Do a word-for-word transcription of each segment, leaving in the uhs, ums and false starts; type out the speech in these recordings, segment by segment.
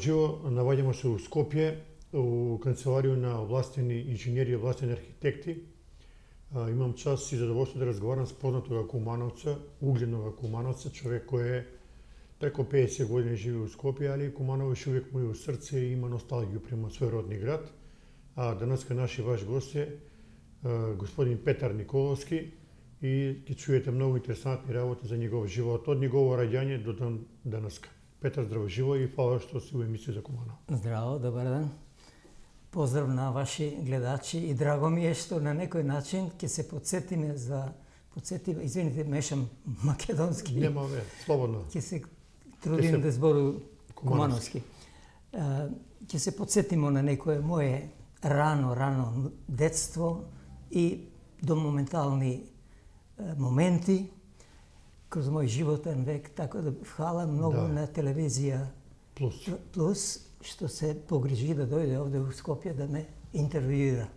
живо, наоѓаме се у Скопје, у канцеларија на овластени инженери и овластени архитекти. Имам час и задоволство да разговарам с познатога кумановца, угледнога кумановца, човек кој е преко педесет години живе у Скопје, али Куманово ше увек му е у срце и има носталгија према свој родни град. А денеска наши ваш гост е господин Петар Николовски и ќе чуете многу интересантни работи за негов живот, од негово раѓање до ден денеска. Петар, здраво живо и фала што си у емисија за Куманово. Здраво, добар ден. Поздрав на ваши гледачи и драго ми е што на некој начин ќе се подсетиме за подсетиме, извините, мешам македонски. Нема ве, слободно. Ќе се трудим се... да збору кумановски. Ќе се подсетиме на некое мое рано, рано детство и до моментални моменти кроз мој животен век, така да фала многу да. На телевизија Плюс. Плюс, што се погрижи да дојде овде у Скопје да ме интервјуира.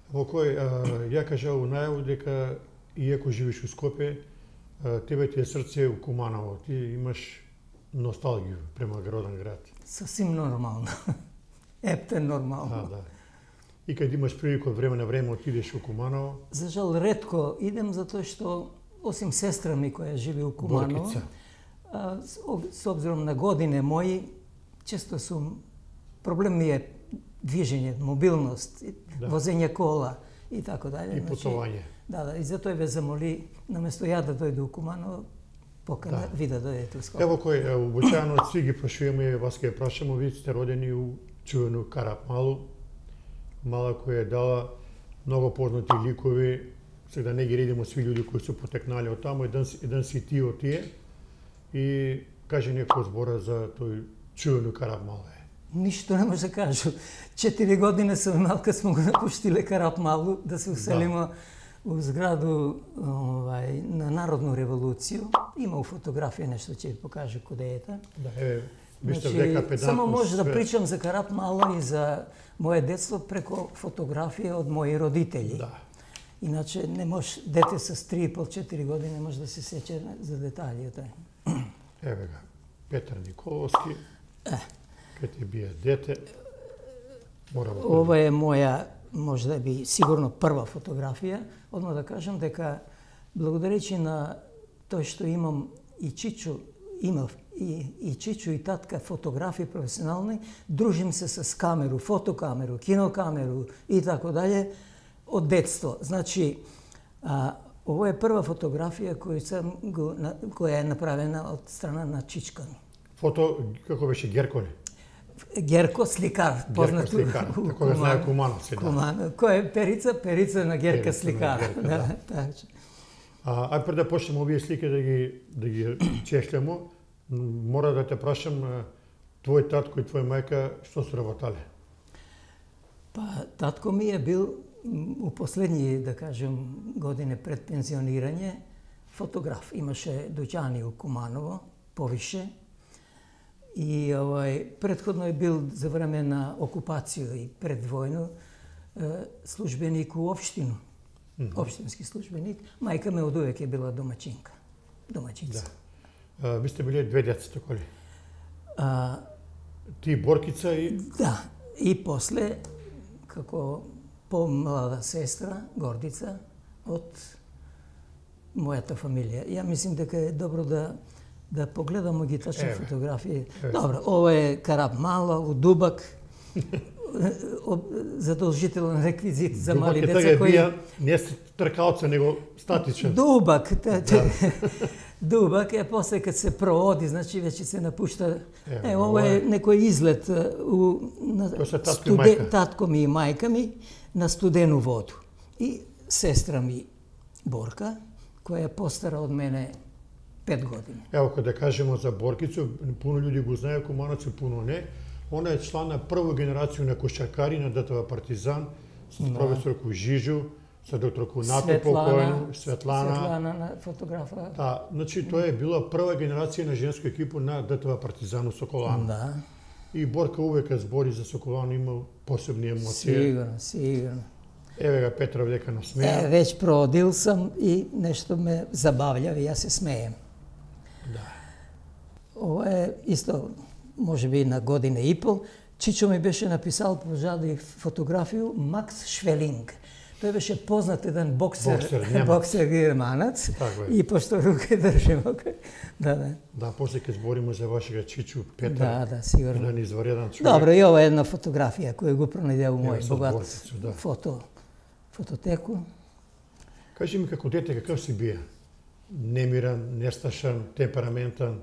Во кој ја кажа у најаву дека иако живиш у Скопје, тебе ти е срце у Куманово. Ти имаш носталгија према роден град. Сосим нормално. Ептен нормално. А, да. И кај имаш прилика од време на време отидеш у Куманово? За жал ретко идем затоа што осим сестра ми која живи у Куманово, Боркица. А, с обзиром на године мои, често сум проблем ми е движење, мобилност, да. Возење кола и така дале. И путување. Да, да, и затоа ве замоли, наместо ја да дојду у Куманово, покана да. Ви да дојдете у Скопје. Ево кој, обичаено од сви ги прашуваме, вас ќе прашамо, вие сте родени у чувено Карапмалу, мала која е дала многу познати ликови, сега не ги редимо сви луѓе кои се потекнале од таму, еден, еден си ти од тие, и каже некој збора за тој чувено Карапмалу. Ништо не може да кажу. Четири години сум имал кога смо го напуштиле Карапмалу да се уселиме да. У зграду овај, на Народну револуцију. Има фотографија, нешто ќе ви покажа куде е та. Да, е, виште значи, дека педантност. Само може да причам за Карапмалу и за моје детство преко фотографија од мои родители. Да. Иначе не може, дете с три и пол четири години не може да се сеќа за деталите. Еве га, Петар Николовски. Е. Кај ти бие дете, морам... Ова е моја, може да би, сигурно прва фотографија. Одма да кажам дека, благодаречи на тој што имам и Чичо, имав и, и Чичо и татка фотографии професионални, дружим се с камеру, фотокамеру, кинокамеру и тако дале, од детство. Значи, а, ово е прва фотографија која, сам го, која е направена од страна на Чичка. Фото, како беше, Герко ли? Герко сликар, познато. Герко сликар, така да знае Кумановци, да. Куманов. Кој е Перица? Перица на Герка Перица сликар. На Герка, да, да. Така. А, ај пред да почнеме овие слики да ги да ги чешлемо, мора да те прашам, твој татко и твоја мајка што се работале? Па татко ми е бил у последни, да кажем, години пред пензионирање фотограф. Имаше дуќани у Куманово, повише. И овај претходно е бил за време на окупација и предвојно службеник у општину. општински службеник. Мајка ме одувек е била домачинка. Домачинца. Да. А, ви сте биле две деца, така ли? А, Ти Боркица и... Да. И после, како помлада сестра, Гордица, од мојата фамилија. Ја мислим дека е добро да да погледамо ги тачни фотографии. Еве. Добро, ова е Карап Мало, у Дубак. Задолжителен реквизит за Дубак мали е деца тага кои... бија не тркалца, него статичен. Дубак, та, та, Да. Дубак е после кад се проводи, значи веќе се напушта. Е, Е, ова е некој излет у на Тоа се татко и студе- мајка. татко ми и мајка ми на студену воду. И сестра ми Борка, која е постара од мене пет години. Ево, кога да кажемо за Боркицу, пуно луѓе го знаеат, кумановци пуно не. Она е члан на прва генерација на кошаркари на ДТВ Партизан, со Да. професор Жижу, со доктор Кунато Светлана, покојно, Светлана. Светлана на фотографа. Да, значи тоа е била прва генерација на женско екипу на ДТВ Партизан у Соколано. Да. И Борка увека збори за Соколано, имал посебни емоции. Сигурно, сигурно. Еве га Петра вдека Е, насмеа. веќе проодил сам и нешто ме забавља и јас се смеем. Да. Ова е исто, може би на година и пол. Чичо ми беше написал, пожади фотографiju Макс Швелинг. Тој беше познат еден боксер, Боксер, немац. боксер германец. Така е. И пошто руке држимо. Да, да. Да, после ќе збориме за вашега Чичу Петар. Да, да, сигурно. Еден извареден човек. Добро, и ова е една фотографија која го пронајде у Ево, мој со богат Боркицу, да. фото, фототеку. Кажи ми како дете каков си бија? Немиран, несташан, темпераментан?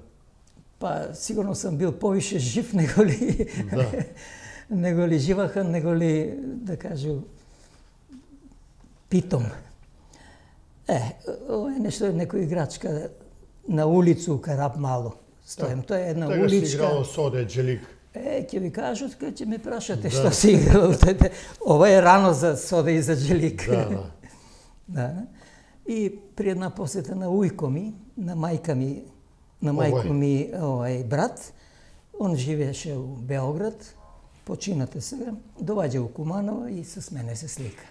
Па, сигурно сам бил повише жив него ли, Да. него ли живахан, него ли, да кажу, питом. Е, ова е нешто, некој играчка на улицу у Карап Мало. Стоем, тоа е една Тега си уличка. играло Соде, Джелик. Е, ќе ви кажат, кога ќе ме прашате Да. што си играл. Ова е рано за Сода и за Джелик. Да, да. Да. И при една посета на ујко ми, на мајка ми, на Овој. мајко ми, овај брат, он живееше у Београд, починате сега, доваѓа у Куманово и с мене се слика.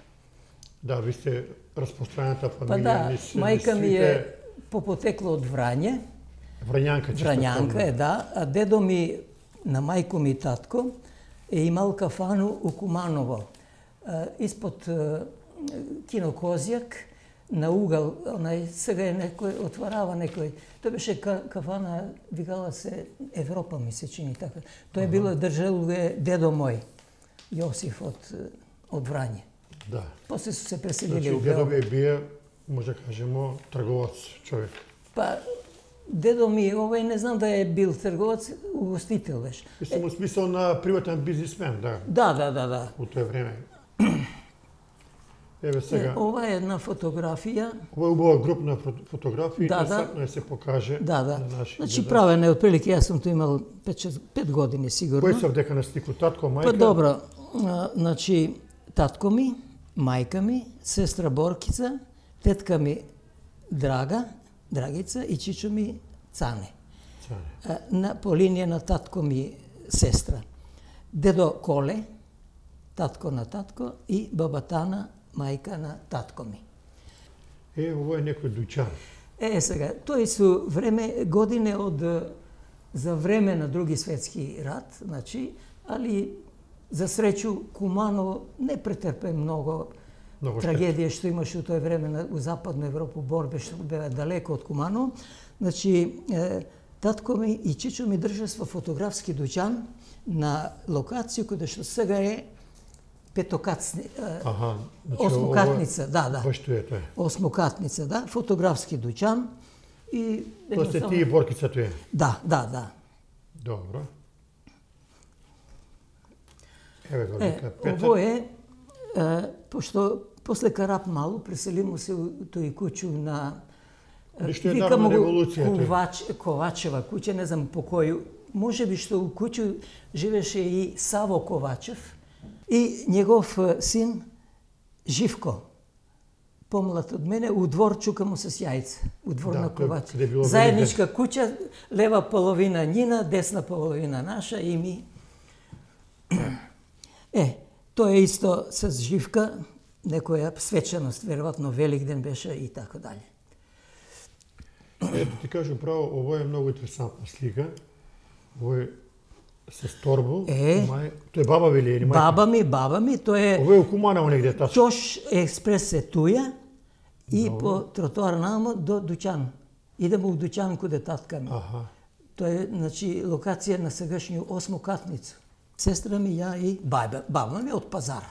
Да, ви сте распространета Па фамилија. да, низ- мајка низ ми сите- е по потекло од Врање, Врањанка, чисто Врањанка помнам. е, да, а дедо ми, на мајко ми и татко, е имал кафану у Куманово, а, испод а, кино Козјак, на угал, онај, сега е некој, отварава некој, тоа беше ка, кафана, викала се Европа, ми се чини така. Тоа е било, држал е дедо мој, Јосиф од, од Врање. Да. После су се преселили Значи, у дедо Београд. ви бие, може да кажемо, трговац човек. Па, дедо ми, овој не знам да е бил трговац, угостител беше. Мислам, у смисол на приватен бизнисмен, да, Да, да, да, да. у тоа време. Еве сега, Е, ова е една фотографија. ова е убава групна фото- фотографија, Да, да. интересантно е се покаже Да, на да. нашите Значи гледачи. правен е отприлike, јас сум тоа имал пет години сигурно. Кој се вдека на слику, татко, мајка? Па добро, а, значи татко ми, мајка ми, сестра Боркица, тетка ми Драга, Драгица и чичо ми Цане. Цане. А, на, по линија на татко ми сестра. Дедо Коле, татко на татко и баба Тана, мајка на татко ми. Е, ово е некој дуќан. Е, сега, тој су време, године од, за време на Други светски рат, значи, али за среќу Куманово не претрпе многу Много штета. трагедија што имаше у тој време на, у Западна Европа, борбе што беа далеко од Куманово. Значи, е, татко ми и чичо ми држа во фотографски дуќан на локација која што сега е петокатни, е, Аха, значи, осмокатница, да, да. Баш тоа е тоа. Осмокатница, да, фотографски дуќан и Тоа сте ти и Боркица тоа е. Да, да, да. Добро. Еве го Е, вика Петар. ово е, е, пошто после Карап Малу преселимо се у тој куќу на е, Ништо е викамо народна го револуција, тој. Ковач, Ковачева куќа, не знам по кој, може би што у куќу живеше и Саво Ковачев и негов е, син Живко, помлад од мене, у двор чука му с јајца, у двор Да, на тој Ковач. каде било Заедничка куќа, лева половина njina, десна половина наша и ми. Е, тоа е исто с Живка. некоја свечаност, веројатно Великден беше и така дали. Ето ти кажам право, ово е многу интересантна слика. Ово е со торбо. Е, мај... Тоа е баба ви ли или мајка? Баба ми, баба ми, тоа е Ово е у Куманово негде тачно. Чош експрес се туја и Добро. по тротоар намо до дуќан. Идемо у дуќан каде татка ми. Аха. Тоа е, значи, локација на сегашниот осмокатница. Сестра ми, ја и баба, баба ми од пазар.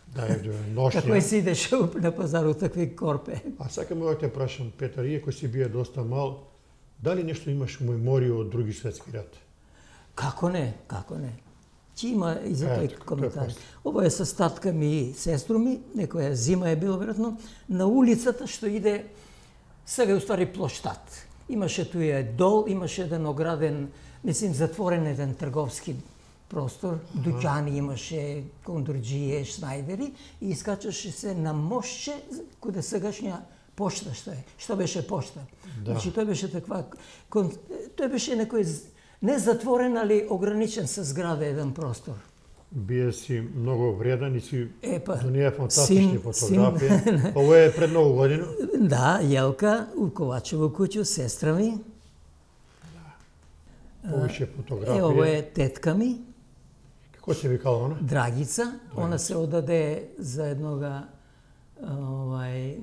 Да, е ношња. Како си идеше на пазарот такви корпе. А сакам да те прашам, Петар, иако си бие доста мал, дали нешто имаш меморија од други светски рат? Како не, како не. Чи има и за тој Ето, коментар. тоа е Ово е со татка ми и сестру ми, некоја зима е било веројатно, на улицата што иде, сега е уствари плоштад. Имаше туја дол, имаше еден ограден, мислим, затворен еден трговски простор, дуќани имаше, кондурџије, шнајдери, и искачаше се на мошче, каде сегашња пошта што е, што беше пошта. Да. Значи, тој беше таква, кон... тој беше некој не затворен, али ограничен со зграда еден простор. Бие си многу вреден и си Епа, донија фантастични син- фотографии. син- Ово е пред нову година. Да, Јелка, у Ковачево куќу, сестра ми. Повише Е, фотографии. ово е тетка ми, Како се викала она? Драгица. Она се одаде за еднога, овај,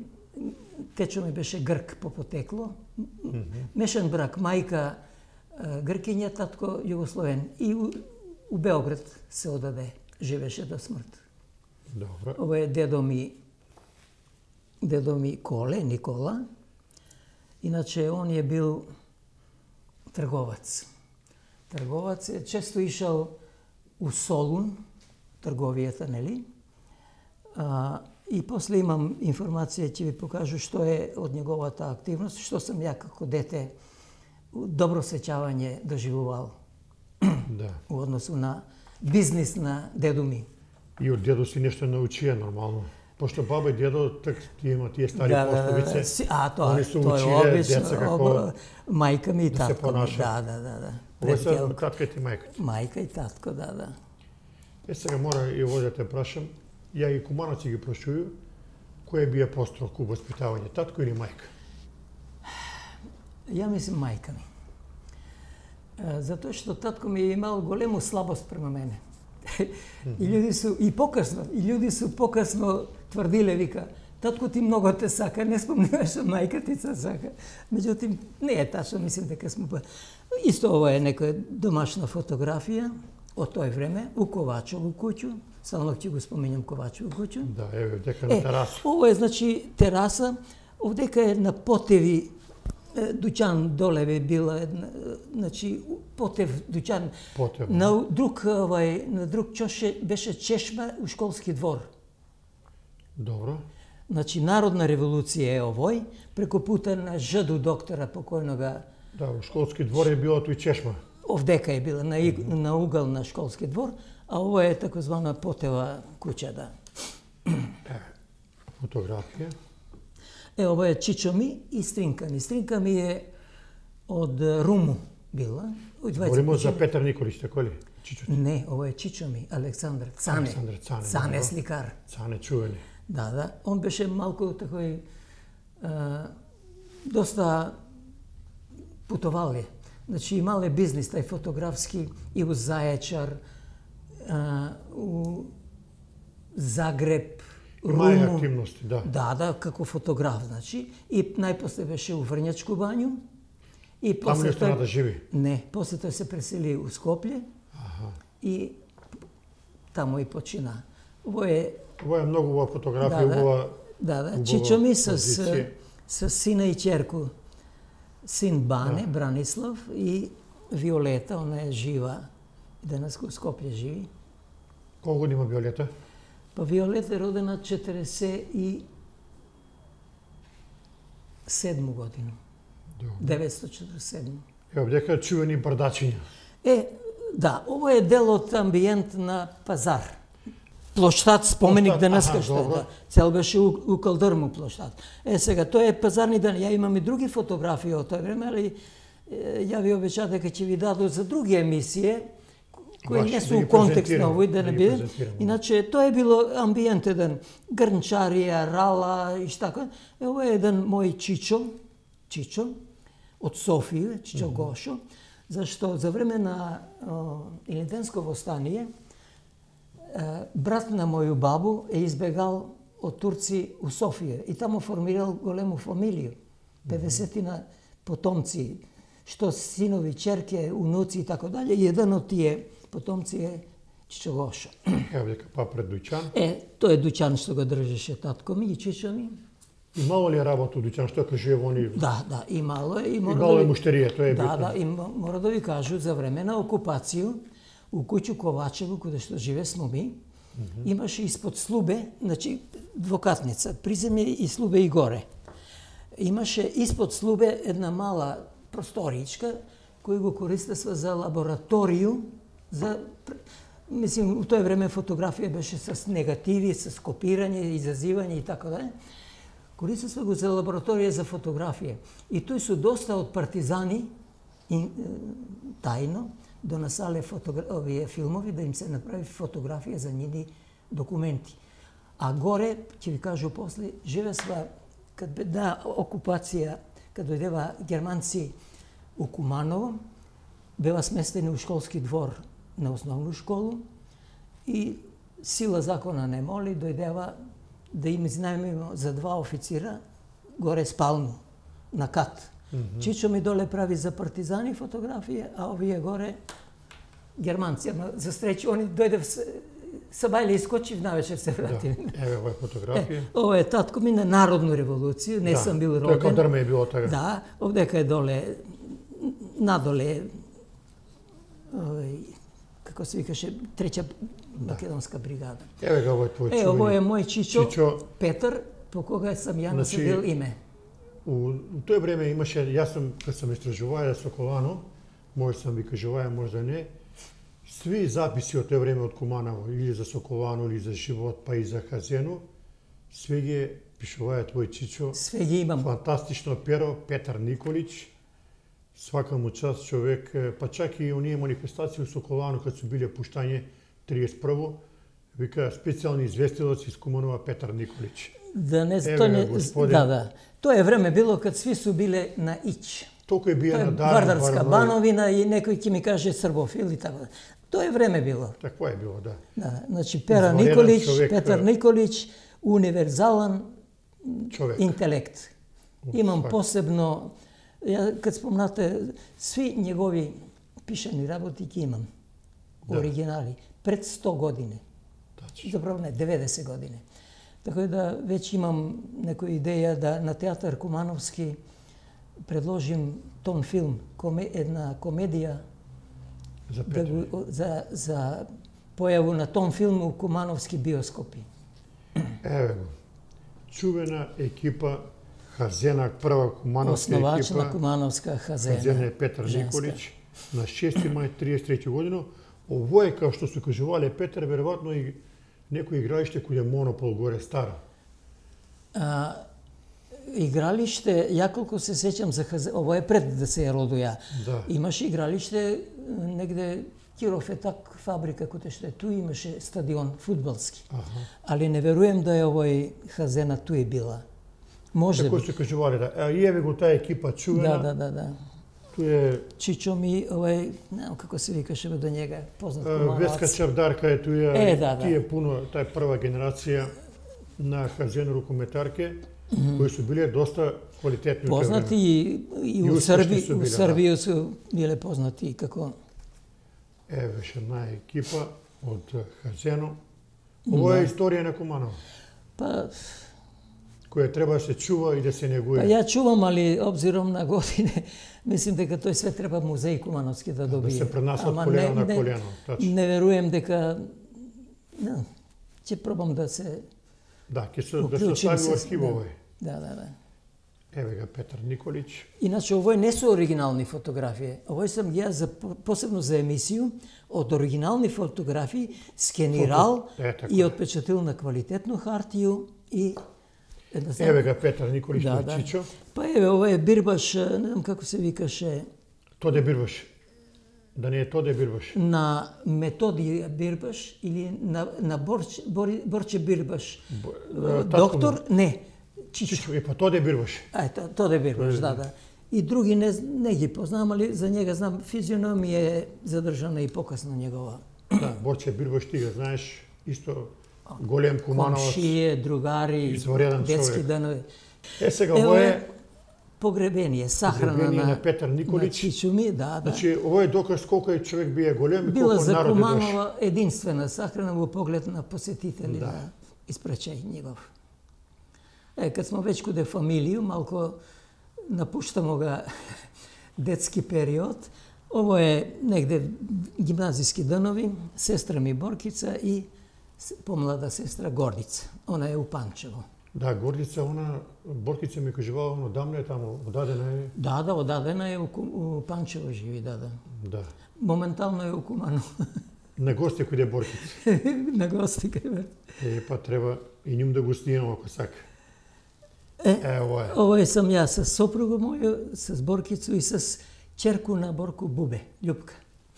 течо ми беше грк по потекло. Мешан брак, мајка а, гркиња, татко југословен. И у, у Београд се одаде, живеше до смрт. Добро. Ово е дедо ми, дедо ми Коле, Никола. Иначе он е бил трговац. Трговац е, често ишал у Солун, трговијата, нели? А, и после имам информација, ќе ви покажу што е од неговата активност, што сам ја како дете добро сеќавање доживувал Да. у односу на бизнис на дедо ми. И од дедо си нешто научија нормално. Пошто баба и дедо, так ти има тие стари пословици. си- а, тоа, Они се тоа училе е обично. деца како об- мајка ми и да се татко ми, понашаат. да, да, да, да. Ово е сега Предкелко. татка ти мајка ти. Мајка и татко, да, да. Е, сега мора и ово да те прашам. Ја и кумановци ги прашуваю, кој бие построг у воспитавање, татко или мајка? Ја мислим мајка ми. Е, Затоа што татко ми е имал голему слабост према мене. И луѓе су и покасно, и луѓе су покасно тврдиле, вика, татко ти многу те сака, не спомнуваш што мајка ти се сака. Меѓутоа не е тачно, мислим дека сме па. Исто ова е некоја домашна фотографија од тој време у Ковачево куќу. Само ќе го споминам Ковачево куќу. Да, еве, дека на тераса. Ово е, значи, тераса, овдека е на Потеви, е, дуќан доле би била една, е, значи, Потев дуќан. Потев. На друг, овај, на друг чоше беше чешма у школски двор. Добро. Значи, Народна револуција е овој, преку пута на Жду доктора покојнога, Да, у школски двор е било тој чешма. овдека е била, на, иг- на угол на школски двор, а ово е такозвана Потева куќа, да. Фотографија. Е, ова е Чичо ми и Стринка ми. Стринка ми е од Руму била. Од дваесет Говоримо за години. Петар Николич, така ли? Чичо Не, ова е Чичо ми, Александар Цане. Александар Цане, Цане добро. сликар. Цане чувени. Да, да. Он беше малку такој а, доста путовале. Значи имале бизнис тај фотографски и у Зајачар, а, у Загреб, Имае Руму. активности, да. Да, да, како фотограф, значи. И најпосле беше у Врњачку бању. И Таму после не стана тој... да живи. Не, после тој се пресели у Скопје Аха. и таму и почина. Ово е, Ова е многу убава фотографија, да, да, убава да, да, убава Чичо ми с, позиција. с сина и ќерку. Син Бане, Да. Бранислав и Виолета, она е жива. Денес у Скопје живи. Колку години има Виолета? Па Виолета е родена четиреесет и седма година. Добро. деветстотини четириесет и седма. Ево, дека чувени бардачиња. Е, да, ово е дел од амбиент на пазар. Плоштад, споменик Плоштад, денеска аха, што е, добро. да. Цел беше у, у Калдрму плоштад. Е, сега, тоа е пазарни ден. Ја имам и други фотографии од тој време, али е, ја ви обечав дека ќе ви дадат за други емисије, кои Баш, не да се у ги контекст на презентираме, овој, да да не ги биде. презентираме. Иначе, тоа е било амбиент еден, грнчарија, рала и штака. Е, ова е еден мој чичо, чичо, од Софија, Чичо Мгм. Гошо, зашто за време на о, Илинденско востание, е, брат на моју бабу е избегал од Турци у Софија и таму формирал голему фамилија, педесетина потомци, што синови, черке, унуци и така дале, и еден од тие потомци е Чичо Гошо. Ево дека па пред дуќан. Е, тој е дуќан што го држеше татко ми и чичо ми. Имало ли работа у дуќан, што кажува во они? Да, да, имало е. И мора Имало да е ви- муштерија, тоа е Да, битно. да, и мо- мора да ви кажу, за време на окупацију, у куќу Ковачево, каде што живе смо ми, имаше испод слубе, значи двокатница, приземје и слубе и горе. Имаше испод слубе една мала просторичка, кој го користества за лабораторију, за мислим, у тоа време фотографија беше с негативи, с копирање, изазивање и така да. Користества го за лабораторија за фотографија. И тој со доста од партизани и, е, тајно донесале фотогра... овие филмови да им се направи фотографија за нивни документи. А горе, ќе ви кажу после, живесва кад бе да окупација, кад дојдева германци у Куманово, бева сместени у школски двор на основну школу и сила закона не моли, дојдева да им изнајмимо за два официра горе спалну, на кат. Мгм. Чичо ми доле прави за партизани фотографија, а овие горе германци. Ама за среќа, они дојде са бајле искочив, навечер се Да. врати. Еве ова е фотографија. Е, ова е татко ми на Народну револуција, не Да, сам бил Тоа кај роден. Дрме е било така. Да, овдека е доле, надоле, овој, како се викаше, трета македонска бригада. Еве га ова е твој Е, ово е чувени. мој чичо, Чичо. Петар, по кога сам ја Значи, насадил име. У, у тој време имаше, јас сум, кад сам истражуваја Соколано, може сам ви кажуваја, може не, сви записи од тој време од Куманово, или за Соколано, или за живот, па и за Хазено, све ги пишуваја твој чичо. Све ги имам. Фантастично перо, Петар Николич. Свака му час човек, па чак и оние манифестации у Соколано, кад су биле пуштање триесет и прво, вика специјални известилец из Куманова Петар Николич. Да не, Еве тоа не, га, господин. да, да. Тоа е време било кад сви су биле на ич. Толку е бија Тоа е на дар. Вардарска бановина и некој ќе ми каже србофил и така. Тоа е време било. Такво е било, да. Да, значи Пера Извонеден Николич, човек, Петар е. Николич, универзален Човек. интелект. Уф, Имам свак. посебно, ја кад спомнате, сви негови пишани работи ги имам. Да. Оригинали. Пред сто години. Тачно. Заправо не, деветдесет години. Така да веќе имам некоја идеја да на театар Кумановски предложим тон филм, коме, една комедија За да Петар. го, за, за појаву на тон филм у Кумановски биоскопи. Еве го. Чувена екипа Хазена, прва кумановска Основач екипа. на Кумановска Хазена. Хазена е Петар женска. Николич на шести мај триесет и трети година. Ово е, како што се кажувале Петар, веројатно и некој игралиште кој е монопол горе стара. А, игралиште, ја колку се сеќам за Хазена, ово е пред да се родуја. Да. Имаше игралиште негде Киров е так фабрика која што е ту имаше стадион фудбалски. Аха. Али не веруjem да е овој Хазена ту е била. Може Како би. се кажувале, да. А и еве го таа екипа чувена. Да, да, да, да. Ту е Чичо ми, овој, не знам како се викаше бе до njega, познат е, кумановац. Веска Чавдарка е туја. Е, да, да. Тие пуно, таа прва генерација на Хазена рукометарке, кои су биле доста квалитетни. у тоа Познати време. и, и, И у успешни Срби, су у биле, Србија су биле познати како Еве беше една екипа од Хазено. Ово е Да. историја на Куманово, па која треба да се чува и да се негуе. Па ја чувам, али обзиром на године, мислим дека тој све треба музеј Кумановски да добие. Да се пренасат Ама колено не- на не- колено. Тачно. Не веруjem дека не, ќе пробам да се Да, ќе се да се уклучим остави во се- архив да. овој. Да, да, да. Еве га Петар Николич. Иначе овој не се оригинални фотографии. Овој сам ги ја за посебно за емисију од оригинални фотографии скенирал Фото- е, така и е. отпечатил на квалитетну хартију и едноставно- Еве га Петар Николич Да, на да. Чичо. Па еве, ова е бирбаш, не знам како се викаше, Тоде бирбаш. Да не е Тоде Бирбаш. На Методија Бирбаш или на, на Борче, Бори, Борче Бирбаш. Бо, Доктор, не, Чичо. Чичо, е па Тоде Бирбаш. Ето, Тоде Бирбаш, да, да. И други не, не ги познавам, али за njega знам, физиономија е задржана и покасно негова. Да, Борче Бирбаш, ти го знаеш, исто голем кумановаc. Комшије, другари, детски данови. Е, сега, ово е погребение, сахрана погребение на, на Петар Николич. на Чичо ми, да, да. Значи, ово е доказ колко е човек бие голем и Била колко за народ е дош. Куманова единствена сахрана во поглед на посетители Да. на испрачај негов. Е, кад смо веќе куде фамилију, малко напуштамо га детски период. Ово е негде гимназиски данови, сестра ми Боркица и с- помлада сестра Горница. Она е у Панчево. Да, Гордица, она, Боркица ми кажувала, ono давно е тамо, одадена е. Да, да, одадена е у, Ку- у Панчево живи, да, да. Да. Моментално е у Куманово. На гости кој е Боркица. На гости кај ме. Е, па треба и ним да го снимам ако сака. Е, Е, ово е. Ово е сам јас с сопруга моја, с Боркицу и с черку на Борко Бубе, Љупка.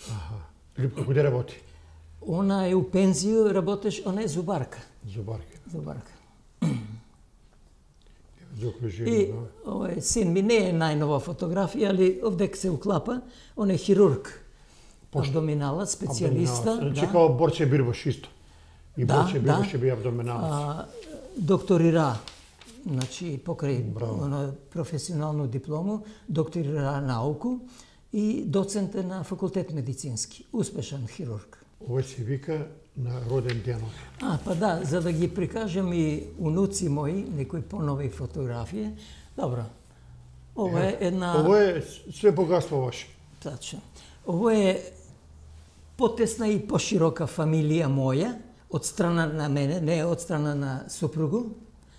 Аха. Липка, куде работи? Она е у пензију, работеш, она е зубарка. Зубарка. Зубарка. Заокружено, И да. ова е син ми, не е најнова фотографија, али овдек се уклапа. Он е хирург. Абдоминалот, специјалиста. Значи, Да. као Борче Бирбаш исто. И Да, Борче да. Бирбаш ќе бие абдоминалец. А, докторира, значи покрај Браво. оно професионалну диплому, докторира науку и доцент е на факултет медицински. Успешен хирург. Ова се вика на роден денот. А, па да, за да ги прикажам и унуци мои, некои понови фотографии. Добро. Ова е една... Ово е све богатство ваше. Тачно. Ово е потесна и поширока фамилија моја, од страна на мене, не од страна на супругу.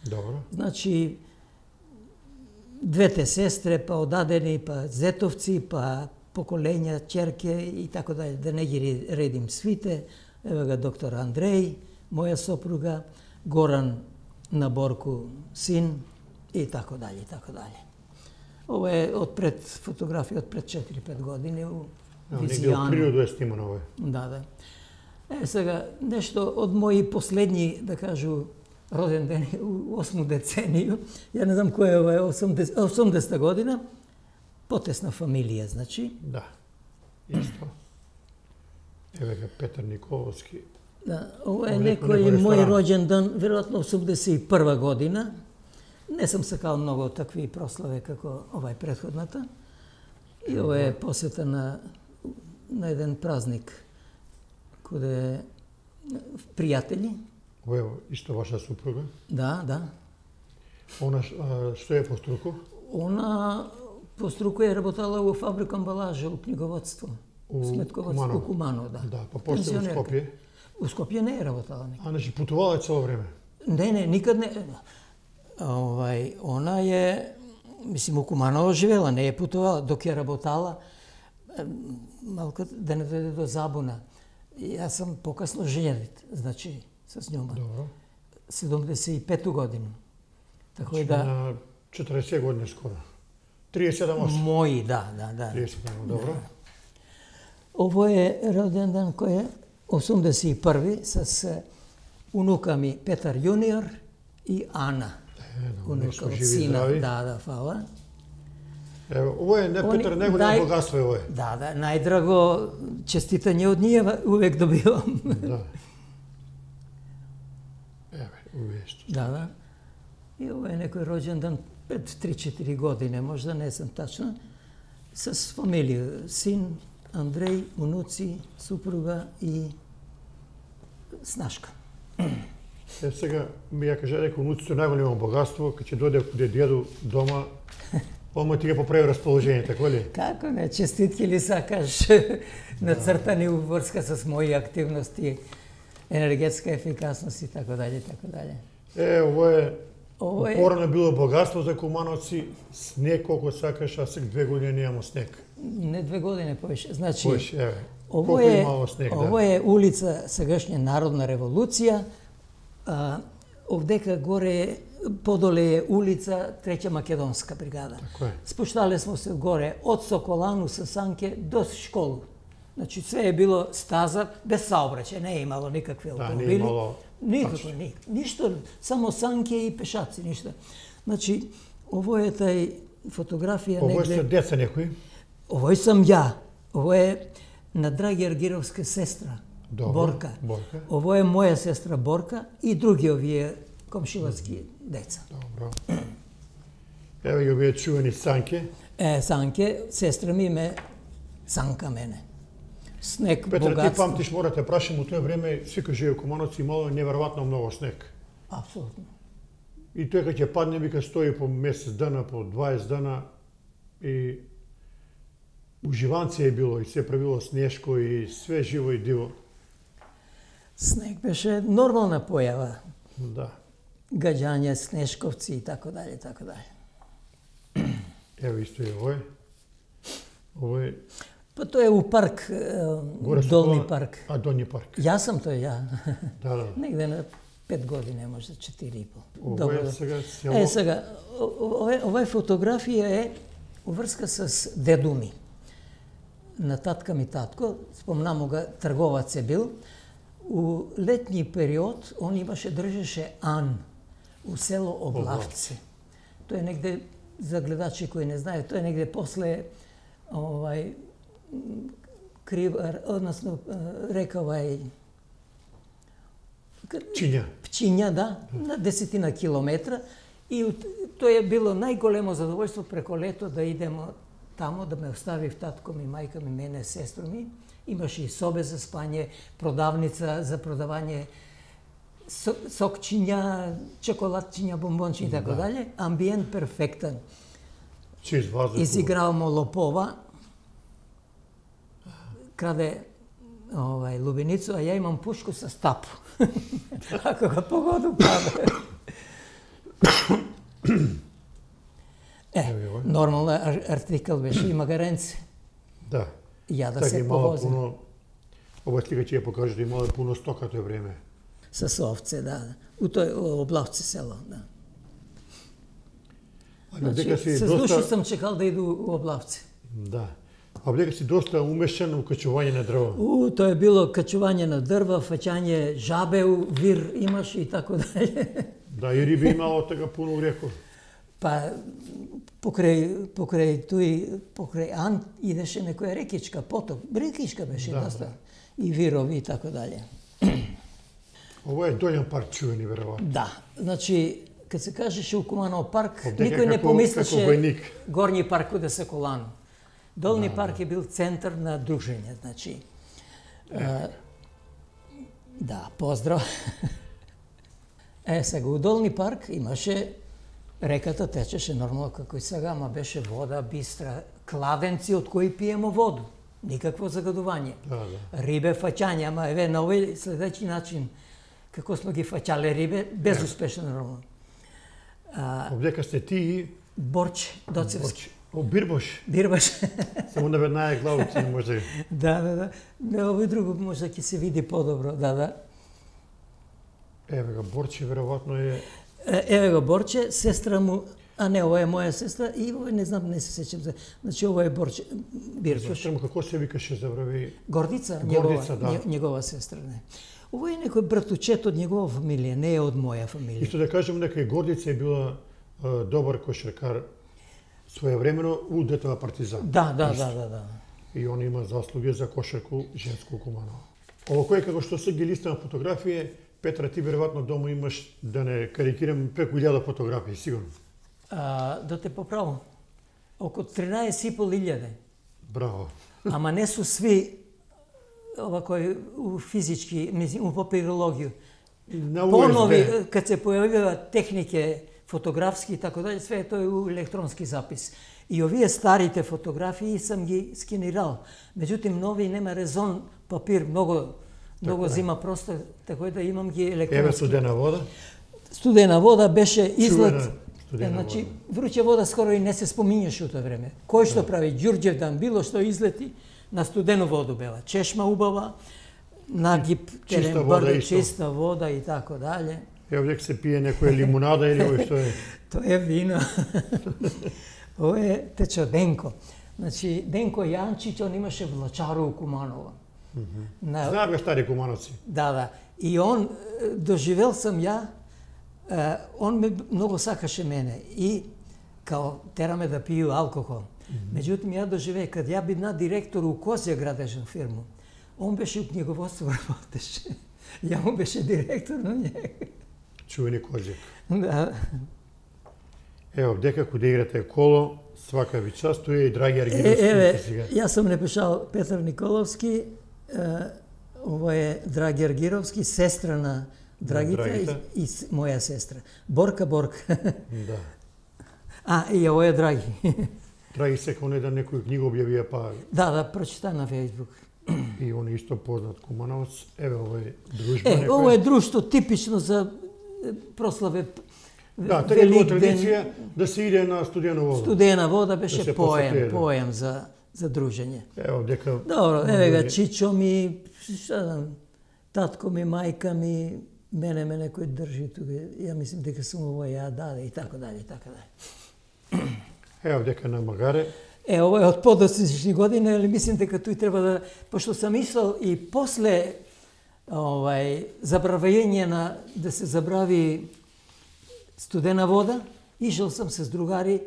Добро. Значи, двете сестре, па одадени, па зетовци, па поколења, черке и така дале, да не ги редим свите. Ева га доктор Андреј, моја сопруга, Горан на Борку, син и така дале, и така дале. Ова е од пред фотографија од пред четири-пет години у Ево, негде од Визијано. природа е снимано ова. Да, да. Е, сега, нешто од мои последни, да кажу, роден ден у осму деценију, ја не знам која е ова, осумдесета осумдесета година, потесна фамилија, значи. Да. Исто. Еве га Петар Николовски. Да, ова е Ова некој- некој некој мој ресторан. роđен дан, веројатно осумдесет и прва година. Не сам сакал многу такви прослави како овај претходната. И ова е посета на, на еден празник, каде пријатели. Ова е исто ваша супруга. Да, да. Она а, што е по струку? Она по струку е работала во фабрика амбалажа, у книговодство. У Сметководство, Куманово. у Куманово, да. Да, па после у Пензионерка. Скопје. У Скопје не е работала никад. А значи путувала е цело време. Не, не, никад не. Овај, она е, мислим, у Куманово живела, не е путувала, док ја работала, е, малку да не дојде до забуна. Јас сум покасно женет, значи, с њома. Добро. седумдесет и пета година. Така и Значи, да, на четириесет години скоро. триесет и седам осум. мои, да, да, да. триесет и седам, добро. Ово е роден ден кој е осумдесет и први с е, унука ми Петар Јуниор и Ана. Е, да, Унука нешто од живи сина. здрави. Да, да, фала. Ево, ово е не Они Петар, него нај- не богатство е ово е. Да, да, најдраго честитање од ние увек добивам. Да. Еве, овие што. Да, да. И ова е некој роđен дан пред три-четири години, можда не сум тачна, с фамилија, син, Андреј, унуци, супруга и снашка. Е, сега ми ја кажа дека унуците најголемо богатство, кога ќе дојде каде дедо дома, ома ти ја поправи расположение, така ли? Како не, честитки ли сакаш нацртани у врска с мои активности, енергетска ефикасност и така дале, така дале. Е, ово е Ово е, порано било богатство за кумановци, снег колку сакаш, а сега две години немамо снег. не две години повеќе. Значи, Поеш, еве. Ово Колку е, имало снег, ово да. е улица сегашња Народна револуција. А, овдека горе е, подоле е улица Треќа македонска бригада. Така е. Спуштале смо се горе од Соколану со санке до школу. Значи све е било стаза без saobraćaj, не е имало никакви автомобили. Да, не е имало... Никако, ни, ништо, само санки и пешаци, ништо. Значи, ово е тај фотографија Ово негде... е деца некои? Ово сам ја. Ово е на Драги Аргировска сестра, Добро, Борка. Борка. Ово е моја сестра Борка и други овие комшилацки деца. Добро. Ево ги овие чувени санке. Е, Санке, сестра ми ме санка мене. Снег, Петра, богатство. ти памтиш, мора те прашам, у тоа време секој живее у Кумановци имало неверојатно многу снег. Апсолутно. И тој кога ќе падне, вика стои по месец дана, по дваесет дана и уживанци е било и се правило снешко и све живо и диво. Снег беше нормална појава. Да. Гаѓање, снешковци и така дале, така дале. Ево исто е овој. Овој Па тоа е у парк, горе со Долни кола- парк. А, Долни парк. Јас сам тој, ја. Да, да. Негде на пет години, може четири и пол. Ова е сега село. Е, сега, ова, ова фотографија е уврска с деду ми. На татка ми татко, спомнамо ga, трговац е бил. У летни период он имаше, држеше Ан у село Облавци. Тоа е негде, за гледачи кои не знаат, тоа е негде после овај Кривар, односно река овај Чиња. Пчиња, да, на десетина километра. И тоа е било најголемо задоволство преко лето да идемо тамо, да ме оставив татко ми, мајка ми, мене, сестро ми. Имаше и собе за спање, продавница за продавање сокчиња, чоколадчиња, бомбончиња и така дале. Амбиент перфектен. Чист воздух. Изигравamo лопова, краде овај лубеницу, а ја имам пушку со стапу. Ако го погоду паде. Е, нормално ар артикл беше, има гаренци. Да. Ја да Така се имало повозим. пуно... Ова слика ќе ја покаже да имало пуно стока тој време. С овце, да. У тој Облавци село, да. А Значи, дека си с доста... души сам чекал да иду у Облавци. Да. А дека си доста умешан у качување на дрво. У, тоа е било качување на дрва, фаќање жабе, у вир имаш и така дале. Да, и риби имало така пуно у реко. Па покрај покрај тој покрај Ан идеше некоја рекичка, поток, рекичка беше Да, доста. И вирови и така дале. Ова е Долен парк чувени, веројатно. Да, значи кога се кажеше у Куманов парк, Дека никој не како- помислеше како војник. Горни парк куде се колан. Долни парк е бил центар на дружење, значи. А, да, поздрав. Е, сега у Долни парк имаше реката течеше нормално како и сега, ама беше вода бистра, кладенци од кои пиемо воду. Никакво загадување. Да, да. Рибе фаќање, ама еве на овој следеќи начин како сме ги фаќале рибе, безуспешно нормално. А, Овдека сте ти и Борче, Доцевски. О, Бирбош. Бирбаш. Само да веднага главици може. Да, да, да. Не, овој друго може ќе се види подобро, да, да. Еве го Борче веројатно е Е, Еве го Борче, сестра му, а не, ова е моја сестра и ова не знам, не се сеќам за. Значи ова е Борче, Бирбаш. Зашто му како се викаше забрави? Гордица, Гордица, негова, да. не- негова сестра, не. Ова е некој братучет од негова фамилија, не е од моја фамилија. Исто да кажем дека и Гордица е била а, добар кошаркар своевремено у Детова Партизан. Да, да, да, да, да. И он има заслуги за кошарку женско у Куманово. Ово кој како што се ги листа на фотографија, Петра, ти веројатно дома имаш, да не карикирам, преку илјада фотографии, сигурно. А, да те поправам. Око тринаесет и пол илјаде. Браво. Ама не су сви ова кој у физички, мислим, у папирологија. На У С Понови, Б. кад се појавуваат технике фотографски и така дале, све е тој у електронски запис. И овие старите фотографии сам ги скенирал. Меѓутоа нови нема резон, папир многу многу е. зима простор, така да имам ги Еве електронски. студена вода. Студена вода беше излет. Чувена студена Е, значи, вода. вруче вода скоро и не се споминјаше у тоа време. Кој што прави Ѓурѓевдан, било што излети, на студену воду бела. Чешма убава, нагиб, Чиста терен, вода брдо, исто. чиста вода и така дале. Ево дека се пие некоја лимунада или ој што е. Тоа е вино. Ова е течоденко. Значи, Денко Јанчич, он имаше влачару у Куманово. Mm -hmm. На... Знаем га стари кумановци. Да, да. И он, доживел сам ја, он ме многу сакаше мене. И као тераме да пију алкохол. Mm -hmm. Меѓутоа, ја доживеј, кад ја бидна директор у Козја градежна фирма, он беше у книговодство работеше. Ја му беше директор на njega. Чувени Козјак. Да. Ево, дека кога играте коло, свака ви част, тој е и Драги Аргировски. Е, еве, јас сум напишал Петар Николовски, е, ово е Драги Аргировски, сестра на Драгите и, и моја сестра. Борка Борка. Да. А, и ово е Драги. Драги секој не да некој книга објавија, па... Да, да, прочита на Фејсбук. И он е исто познат кумановец. Еве, ово е дружба. Е, некоја. ово е друштво типично за прославе. Да, така е било традиција да се иде на студена вода. Студена вода беше да поем, посети, поем за за дружење. Ево, дека... Добро, еве га чичо ми, šta знам, татко ми, мајка ми, мене ме некој држи тука. Ја мислим дека сум ово ја даде и така дали, и така дали. Ево, дека на Магаре. Е, ово е од подосечни години, али мислим дека тој треба да, пошто сам мислел и после овај забравање на да се забрави студена вода, ишел сам се с другари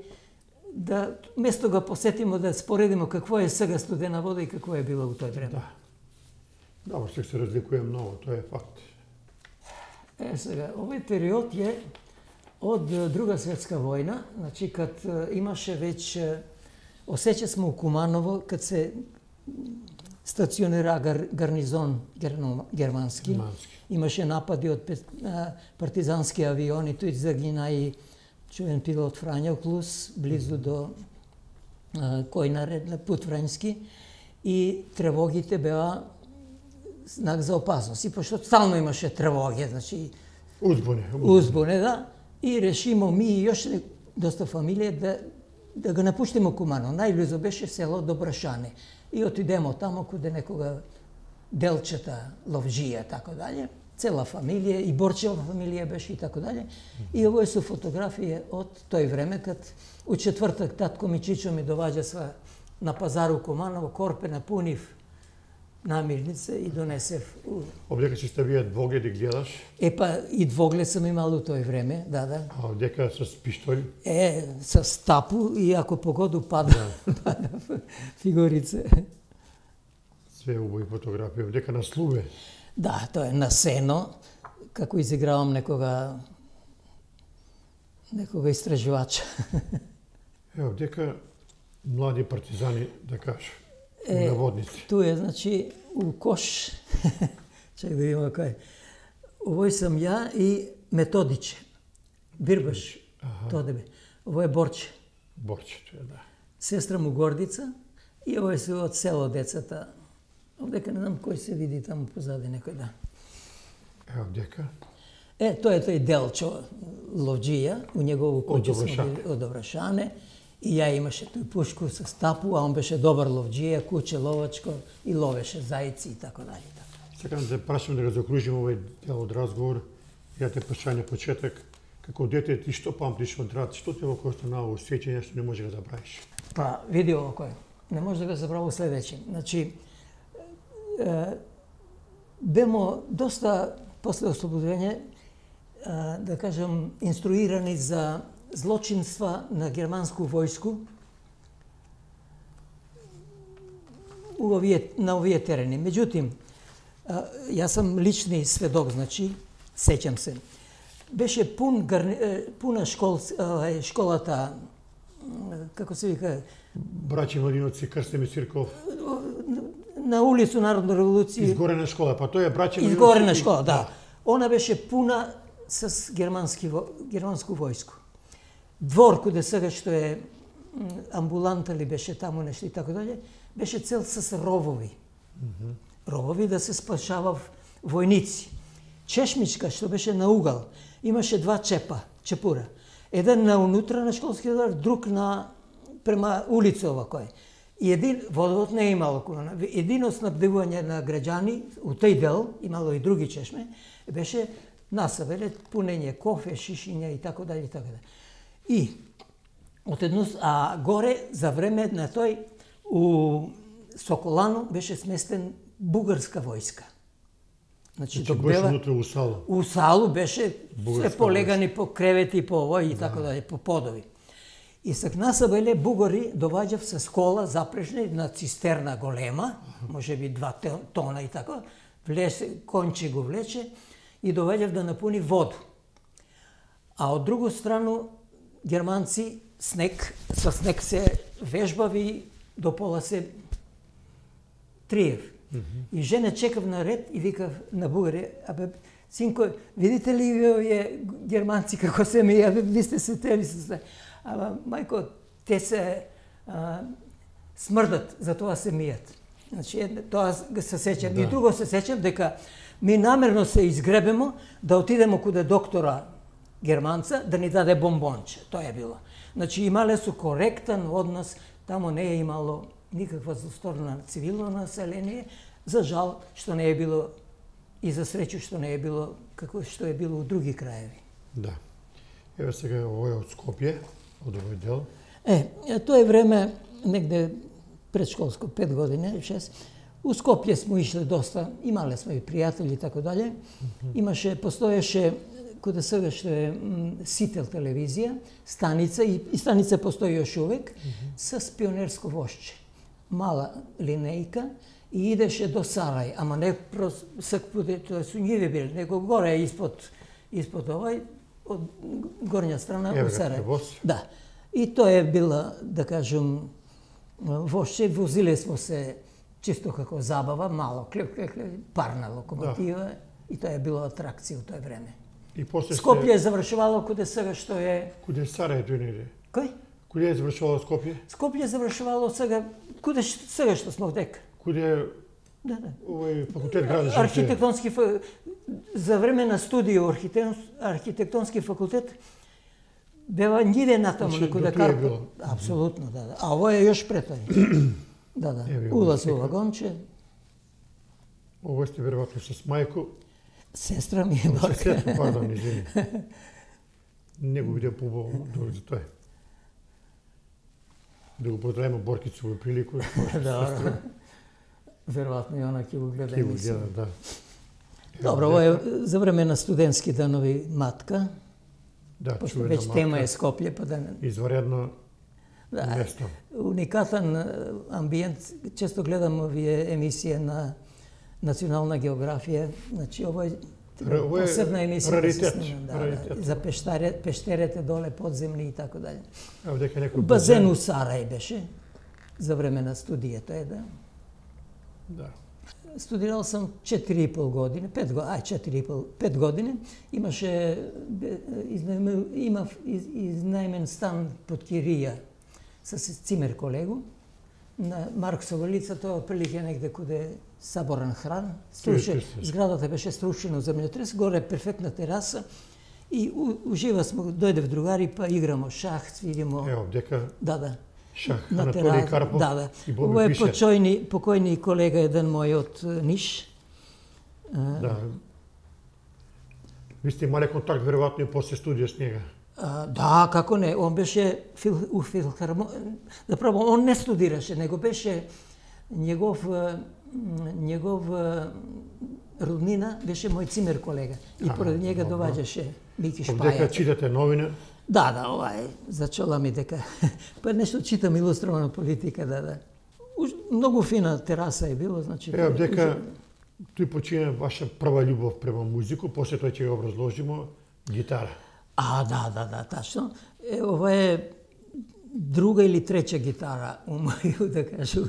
да место го посетимо да споредимо какво е сега студена вода и какво е било у тој време. Да. Добро, сега се разликува многу, тоа е факт. Е, сега, овој период е од Друга светска војна, значи кад имаше веќе, осеќа сме у Куманово, кад се стационира гар, гарнизон германски. Германски. Имаше напади од партизански авиони, тој загина и чуен пилот Фрањо Клус, близу до а, кој наред на пут Врањски, и тревогите беа знак за опасност. И пошто стално имаше тревоги, значи узбуне, узбуне, узбуне да, и решимо ми и још доста фамилија да да го напуштимо Куманово. Најблизо беше село Добрашане. И отидемо тамо куде некога Делчета, Ловжија, тако дале. Цела фамилија, и Борчева фамилија беше и тако дале. И ово е со фотографија од тој време, кад у четвртак татко ми Чичо ми доваѓа сва на пазару Куманово, корпе напунив намирница и донесев. Обдека си ставија двоглед и гледаш? Е, па и двоглед сам имал у тој време, да, да. А обдека с пиштоли? Е, с тапу и ако погоду пада, пада фигурице. Све убави фотографија, обдека на слуве? Да, тоа е на сено, како изигравам некога некога истражувача. Е, обдека млади партизани, да кажа. Е, наводници. Ту е, значи, у кош, чек да има кај, овој сам ја и Методиче, Бирбаш, тоа да бе. Овој е Борче. Борче, тоа е, да. Сестра му Гордица и овој се од село децата. Овдека не знам кој се види таму позади некој, да. Е, овдека? Е, тоа е тој Делчо Ловджија, у негово куќе сме били од Добрашане. И ја имаше тој пушку со стапу, а он беше добар ловџија, куче ловачко и ловеше зајци и така дали. Сакам да те прашам да го закружим овој дел од разговор. Ја те прашање на почеток, како дете ти што памтиш од рад, што те во останало усеќање што не може да забравиш? Па, види ово кој. Не може да го забрави следеće. Значи, е, бемо доста после ослободување, да кажам, инструирани за злочинства на германску војску овие, на овие терени. Меѓутим, јас сам лични сведок, значи, сеќам се. Беше пун гарни, пуна школ, школата, како се вика? Браќи Младиновци, Крстен Цирков. На улицу Народна револуција. Изгорена школа, па тоа е браќи Младиновци. Изгорена школа, да. Она беше пуна с германски, германску војску. Двор, куде сега што е амбуланта ли беше таму нешто и така дале, беше цел с ровови. Mm -hmm. Ровови да се спашавав војници. Чешмичка, што беше на угал, имаше два чепа, чепура. Еден на унутра на школскиот двор, друг на према улица овако е. И един водовод не е имало куна. Едино снабдевување на граѓани, у тој дел, имало и други чешме, беше насабеле пунење кофе, шишиња и така дале и така дале. И од едно, а горе за време на тој у Соколану беше сместен бугарска војска. Значи, Значи док беше бела внутре у салу. у салу беше Бугарска се полегани по кревети, по овој и така дале, по подови. И сакнаса беле бугари доваѓав со кола запрежни на цистерна голема, може би два тона и така, влесе, конче го влече и доваѓав да напуни воду. А од друга страна германци снег, со снег се вежбави, до пола се триев. Mm -hmm. И жена чекав на ред и викав на бугари, абе, синко, видите ли овие германци како се мија, ви сте се тели се. Ама, мајко, те се а, смрдат, затоа се мијат. Значи, тоа се сеќам. Да. И друго се сеќам дека ми намерно се изгребемо да отидемо куде доктора германца да ни даде бомбонче. Тоа е било. Значи, имале су коректен однос, тамо не е имало никаква злосторна на цивилно население, за жал што не е било и за среќу што не е било како што е било у други краеви. Да. Еве сега овој од Скопје, од овој дел. Е, тоа е време негде предшколско, пет години, шест. У Скопје смо ишле доста, имале сме и пријатели и така дале. Имаше, постоеше каде сега што е Сител телевизија, станица, и, и станица постои још увек, mm -hmm. с пионерско вошче. Мала линејка и идеше до Сарај, ама не сак путе, тоа су њиви били, него горе испод, испод овај, од горња страна у Сарај. Да. И тоа е била, да кажем, вошче, возиле смо се чисто како забава, мало, клеп, клеп, клеп, парна локомотива, да. И тоа е било атракција у тоа време. И после Скопје е завршувало куде сега што е... Куде Сарај тој неде? Кој? Куде е завршувало Скопје? Скопје е завршувало сега, куде сега што смо дека. Куде да, да. овој факултет градиш? Архитектонски за време на студио архитектонски факултет бева ниде натаму на куде Карпо. Апсолутно, да, да. А ово е још пред тој. Да, да. Улаз во вагонче. Ово сте веројатно со мајко. Сестра ми е бака. Сестра, пардон, извини. Не го видео побаво за тоа. Да го поздравиме Боркицу во прилику. Да, веројатно и она ќе го гледа. Ќе го гледа, да. Добро, ово е за време на студентски данови матка. Да, пошто чувена веќе тема е Скопје, па да... Изваредно да, место. Уникатен амбиент. Често гледам овие емисија на Национална географија. Значи, ово е посебна емисија. Раритет. Да, да, раритет. За пештаре, пештерете доле, подземни и така дале. Ево дека некој базен у Сарај беше за време на студијата е, да. Да. Студирал сам четири и пол години, пет години, ај четири и пол, пет години. Имаше изнајмен, имав из, изнајмен стан под кирија со цимер колегу на Марксова улица, тоа отприлike негде куде Саборен хран. Струшен, зградата беше струшена земјотрес, горе перфектна тераса и ужива смо, дојдев другари па играмо шах, свиримо. Ево, дека да, да. Шах, Анатолиј Карпов да, да. и Боби Ово е Фишер. покојни, покојни колега еден мој од Ниш. Да. Ви сте имале контакт веројатно и после студија с него. А, да, како не, он беше фил, у филхармонија. Заправо, он не студираше, него беше негов негов роднина беше мој цимер колега и а, поради njega доваѓаше Мики Шпаја. Дека читате новина? Да, да, ова е, зачола ми дека па нешто читам илустрована политика, да, да. Уж, многу фина тераса е било, значи. Ева дека тој почина ваша прва љубов према музику, после тоа ќе го образложимо гитара. А, да, да, да, тачно. Е, ова е друга или трета гитара у моју, да кажу,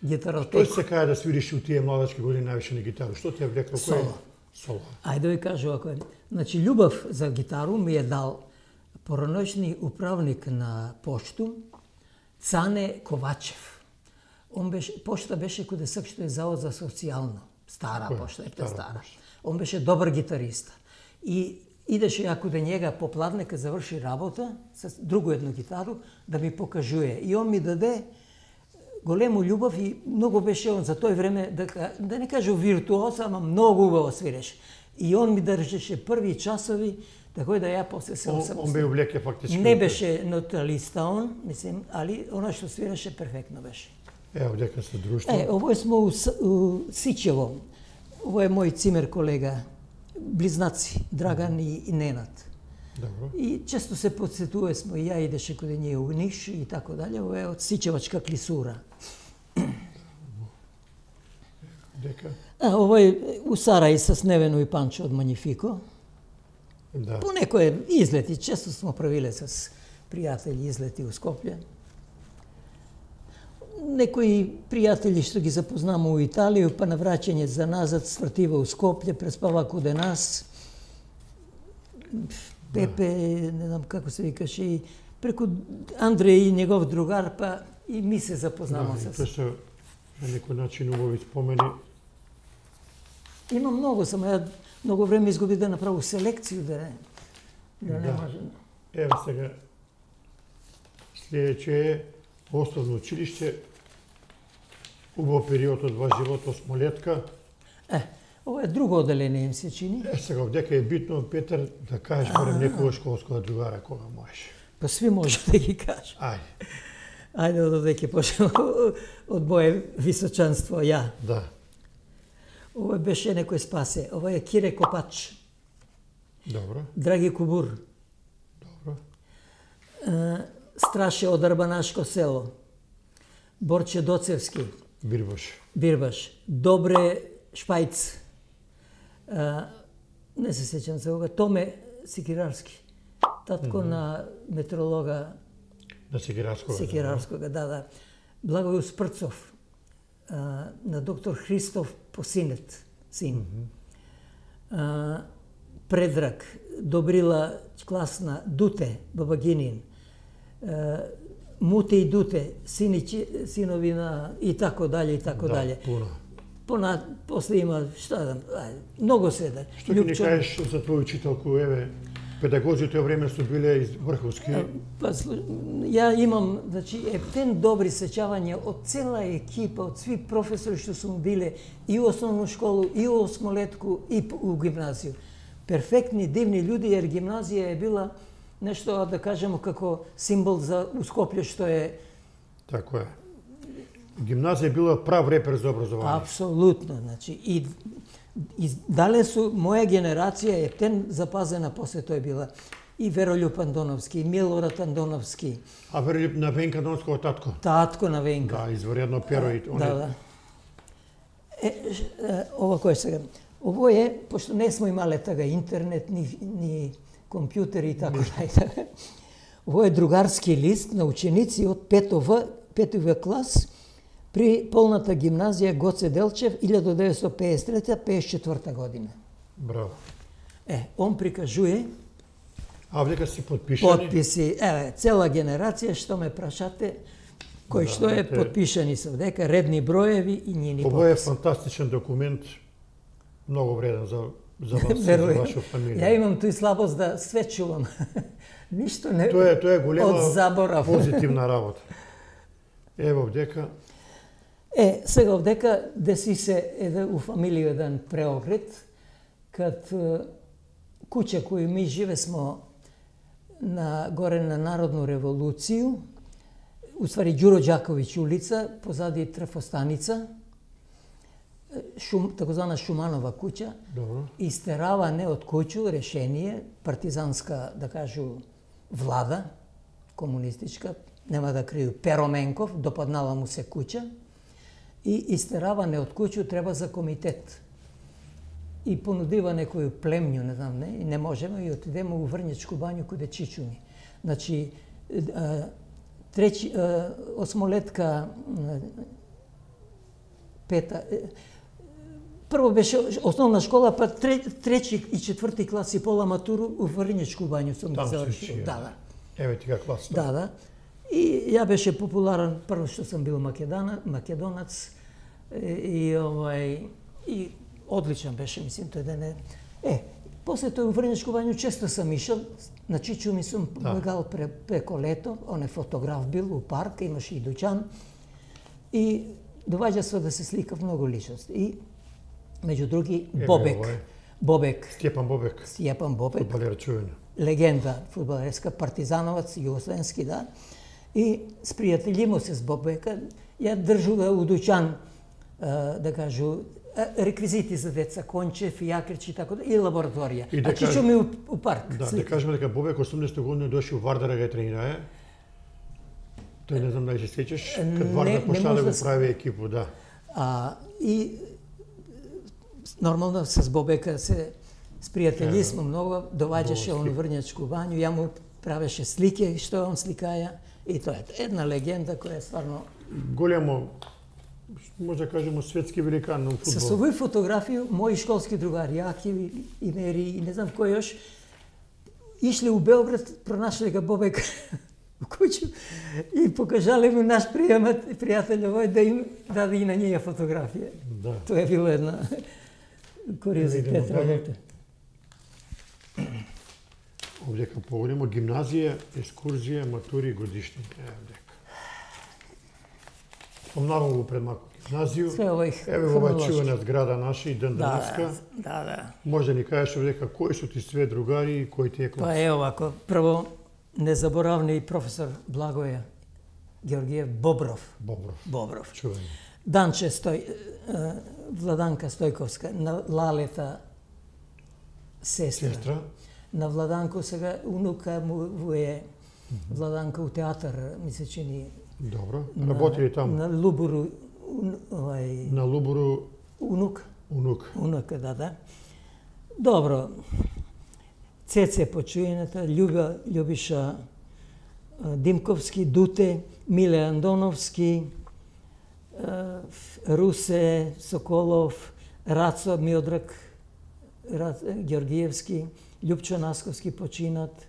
гитаротеку. Што се каја да свириш у тие младачки години највише на гитару? Што ти е влекло? Соло. Соло. Ајде да ви кажу ако е. Значи, љубов за гитару ми е дал пораношни управник на пошту Цане Ковачев. Он беше, пошта беше куде сак што е завод за социјално. Стара Кој? Пошта, е стара. стара. Он беше добар гитариста. И идеше ја куде njega по пладнека заврши работа с другу едно гитару да ми покажуе. И он ми даде голему љубов и многу беше он за тој време, да, да не кажу виртуоз, ама многу убаво свиреше. И он ми држеше први часови, така да ја после се осамостил. Он бе увлеке фактички. Не беше ноталиста он, мислим, али она што свиреше перфектно беше. Ево, дека се друштво. Е, ово смо у, у Сичево. Ово е мој цимер колега, близнаци, Драган и, и Ненад. Добро. И често се подсетуваме смо, и ја идеше каде ние у Ниш и така дале. Ово е од Сичевачка клисура. Дека? А, ово е у Сарај с Невено и Панчо од Манифико. Да. По некои излети, често смо правиле с пријатели излети у Скопје. Некои пријатели што ги запознаме у Италија, па на враќање за назад свртива у Скопје, преспава куде нас. Пепе, не знам како се викаше, и преку Андреј и негов другар, па и ми се запознаме Да, с... тоа се на некој начин убави спомени. Има многу, само ја многу време изгуби да направу селекција, да не, да не Да. може. Ево сега, следеќе е основно училиште, убав период од ваш живот, осмолетка. Е, ова е друго оделение, им се чини. Е, сега, овдека е битно, Петар, да кажеш барем некоја школска другара кога можеш. Па сви може да ги кажа. Ајде. Ајде од овдеќе почнемо од моје височанство, ја. Да. Ова беше некој спасе. Ова е Кире Копач, Добро. Драги Кубур, Добро. е, Страше од Арбанашко село, Борче Доцевски, Бирбаш. Бирбаш, Добре Шпајц, е, не се сеќам за ова, Томе Секирарски, татко на метеоролога На Секирарскога. Секирарскога, да, да. Благоју Спрцов, а, на доктор Христов Посинет, син. А, Предраг, Добрила Класна, Дуте, Бабагинин, а, Муте и Дуте, сини, синови на и тако дале, и тако Да, дале. пуно. Пона, после има, šta да, ај, многу се да. Што ќе ни кажеш за твоја учителку, еве, педагозите време су биле из врховски. Па, слу- ја имам, значи, ептен добри сеќавања од цела екипа, од сви професори што сум биле и у основну школу, и у осмолетку, и п- у гимназију. Перфектни, дивни луѓе, jer гимназија е била нешто, да кажемо, како символ за у Скопје, што е Тако е. Гимназија била прав репер за образование. апсолутно, значи, и, и дале су, моја генерација е тен запазена, после тој била и Веролјуп Андоновски, и Милорад Андоновски, А веројатно на Венка Донского татко. татко на Венка. Да, изваредно перо и он Да, е- да. Е, ш- е, ова кој сега? Ово е, пошто не смо имале тага интернет, ни, ни компјутери и така дале. Ово е другарски лист на ученици од пето В, пети В клас при полната гимназија Гоце Делчев илјадесет деветстотини пеесет и трета пеесет и четврта година. Браво. Е, он прикажуе А овдека си подпишани? потписи, еве, цела генерација што ме прашате, кој Да, што е те- потпишани се овдека, редни броеви и njeni Ово е потписи. фантастичен документ, многу вреден за за вас и за Веруjem. ваша фамилија. Ја имам тој слабост да све чувам. Ништо не Тоа е тоа е голема од заборав. позитивна работа. Ево овдека Е, сега овдека деси се еде у фамилија еден преокрет, кад е, куќа кој ми живе смо на горе на Народну револуцију, уствари Ѓуро Ѓаковиќ улица, позади трафостаница, шум, такозвана Шуманова куќа, добро. истераване од куќу решение, партизанска, да кажу, влада, комунистичка, нема да крию, Пероменков, допаднала му се куќа, и истераване од куќу треба за комитет. И понудива некоju племњу, не знам, не, и не можеме, и отидеме у Врњачку бању каде чичуни. Значи, е, треći, e, осмолетка, e, пета, e, прво беше основна школа, па тре, треći и четврти клас и пола матуру у Врњачку бању сум Там ги се завршил. учи, Да, да. да. Еве ти клас. Да, да. И ја беше популарен, прво што сам бил македона, македонац, и, и, овај, и одличен беше, мислим, тој ден е. Е, после тој у Врњачку бању често сам ишел, на Чичу ми сум Да. побегал пре, преко лето, он е фотограф бил у парк, имаше и дуќан, и доваѓа се да се сликав многу личности. И, меѓу други, Еве, Бобек. овој. Бобек, Стјепан Бобек, Стјепан Бобек, фудбалер чуен. легенда фудбалерска, партизановац, југословенски, да. И спријателимо се с Бобека, ја држува у дуќан, да кажу, реквизити за деца, кончев, јакрич и така да, и лабораторија. И да а Чичо ми у, у парк. Да, да кажеме дека Бобек осумдесета година дојшо у Вардар да го тренирае. Тој не знам дали се сеќаш, кад Вардар почна да го прави екипу, да. А, и нормално с Бобека се спријатели смо многу, доваѓаше он Врњачку бању, ја му правеше слики што он сликаја и тоа е една легенда која е стварно голямо, може да кажеме светски великан на фудбал. Со овој фотографија мои школски другари, Јаки и Мери и не знам кој још, ишле у Белград, пронашле га Бобек у куќу и покажале му наш пријател овој да им даде и на неја фотографија. Да. Тоа е била една куриозитет работа. Овдека погледнемо гимназија, екскурзија, матури, годишни. Еве дека. Помнавам го пред малку гимназију. Еве ова чувена зграда наша и ден денеска. Да, да. Може да ни кажеш овдека кои су ти све другари и кој ти е клас? Па е овако, прво незаборавни професор Благоја Георгиев Бобров. Бобров. Бобров. Чувен. Данче Стој, Владанка Стојковска, на Лалета сестра. Сестра. На Владанко сега унука му е Владанка у театар, ми се чини. Добро. Работи ли таму? На Лубуру овај На Лубуру унук. Унук. Унук, да, да. Добро. Цеце почуената, Љуба Љубиша Димковски, Дуте, Миле Андоновски, Русе Соколов, Рацо Миодрак Георгиевски, Љупчо Насковски починат,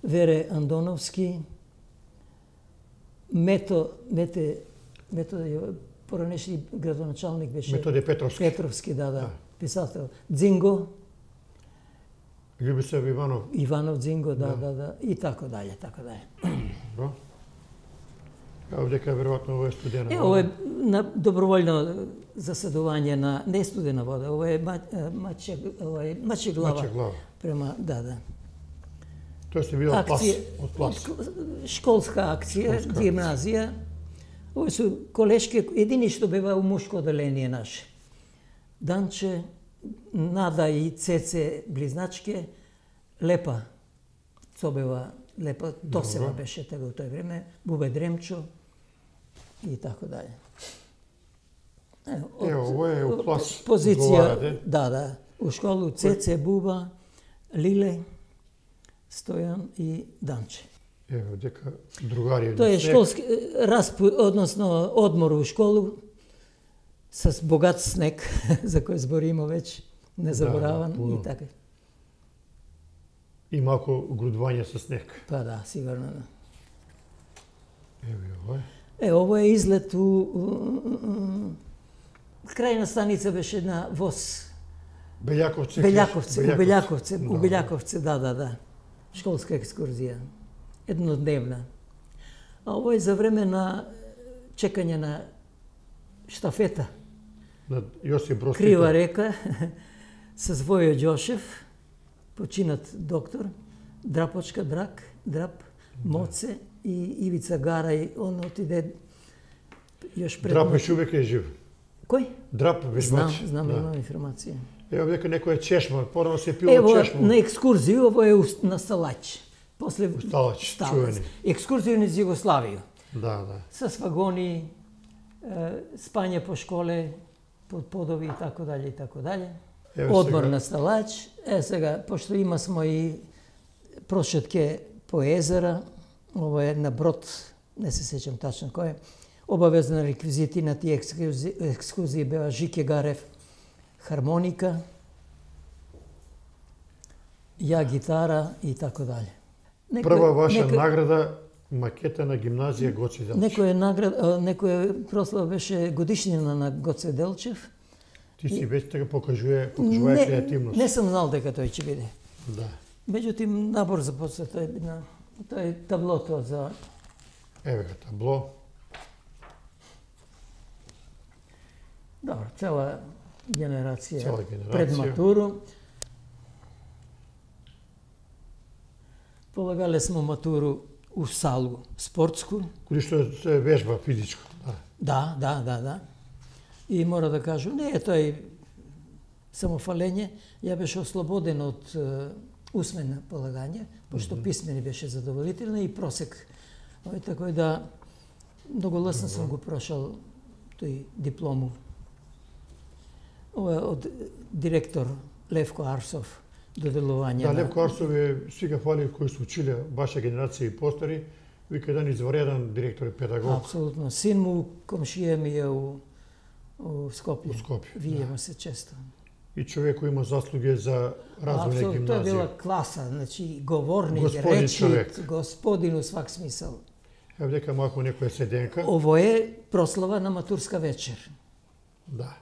Вере Андоновски, Мето, Мете, Мето поранешни градоначалник беше. Методе Петровски. Петровски, да, да, писател. Дзинго. Љубисав Иванов. Иванов Дзинго, да, да, да, и така дале, така дале. Добро. Овдека веројатно ова е студена вода. Е, ова е на доброволно заседување на не студена вода, ова е маче, ова е маче глава. Маче глава. Према, да, да. Тоа се видел плас, од плас. Школска акција, Школска гимназија. Ови су колешки, едини што бева у мушко оделение наше. Данче, Нада и Цеце близначке, Лепа, Цобева, Лепа, Тосева беше тега у тој време, Бубе Дремчо и така дале. Е, ово е у клас. Позиција, да, да, у школу Цеце, Буба, Лиле, Стојан и Данче. Ево, дека другари. Тоа е школски распу, односно одмор у школу с богат снег, за кој збориме веќе, незабораван да, и така. И малку грудвање со снег. Па да, сигурно да. Ево ова е. Е, ово е излет у, у, у крајна станица беше на воз. Белјаковце. Белјаковце, у Белјаковце, у Белјаковце, да, да, да. Школска екскурзија. Еднодневна. А ово е за време на чекање на штафета. На Јосип Брос Тито. Крива река, с Војо Ѓошев, починат доктор, Драпочка Драк, Драп, Моце и Ивица Гарај, он отиде још пред... Драп еш увек е жив. Кој? Драп веќе Знам, знам, имам информација. Ево дека некој е чешма, порано се пило Ево, чешма. на екскурзија, ово е на Сталач. После Сталач, чувени. Екскурзија низ Југославија. Да, да. С вагони, спање по школе, под подови и така дале и така дале. Одмор сега на Сталач. Е сега, пошто има смо и прошетке по езера, ово е на брод, не се сеќам тачно кој е. Обавезна реквизити на тие екскурзии, екскурзии беа Жике Гарев, хармоника, ја гитара и така дале. Некој, Прва ваша некој, награда, макета на гимназија Гоце Делчев. Некој награда, некој прослава беше годишнина на Гоце Делчев. Ти си веќе така покажува, покажува креативност. Не сум знал дека тој ќе биде. Да. Меѓутим, набор започна, тој на тој таблото за... Еве га табло. Добро, цела генерација, цела генерација пред матуру. Полагале смо матуру у салу спортску. Кој што се вежба физичко, да. Да, да, да, да. И мора да кажам, не е тој самофалење, ја беше ослободен од е, усмено полагање, пошто mm -hmm. писмени беше задоволителна и просек. Ој, така да многу лесно сам го прошал тој диплому. Ова е од директор Левко Арсов доделување. Да, на... Левко Арсов е сига фали кои се училе ваша генерација и постари, вика еден извареден директор и педагог. Апсолутно. Син му комшија ми е у, у Скопје. У Скопје. Видиме да. се често. И човек кој има заслуги за развој на гимназија. Тоа е била класа, значи говорник, Господин речит, човек. господин у свак смисъл. Ево дека малку некоја седенка. Ово е прослава на матурска вечер. Да.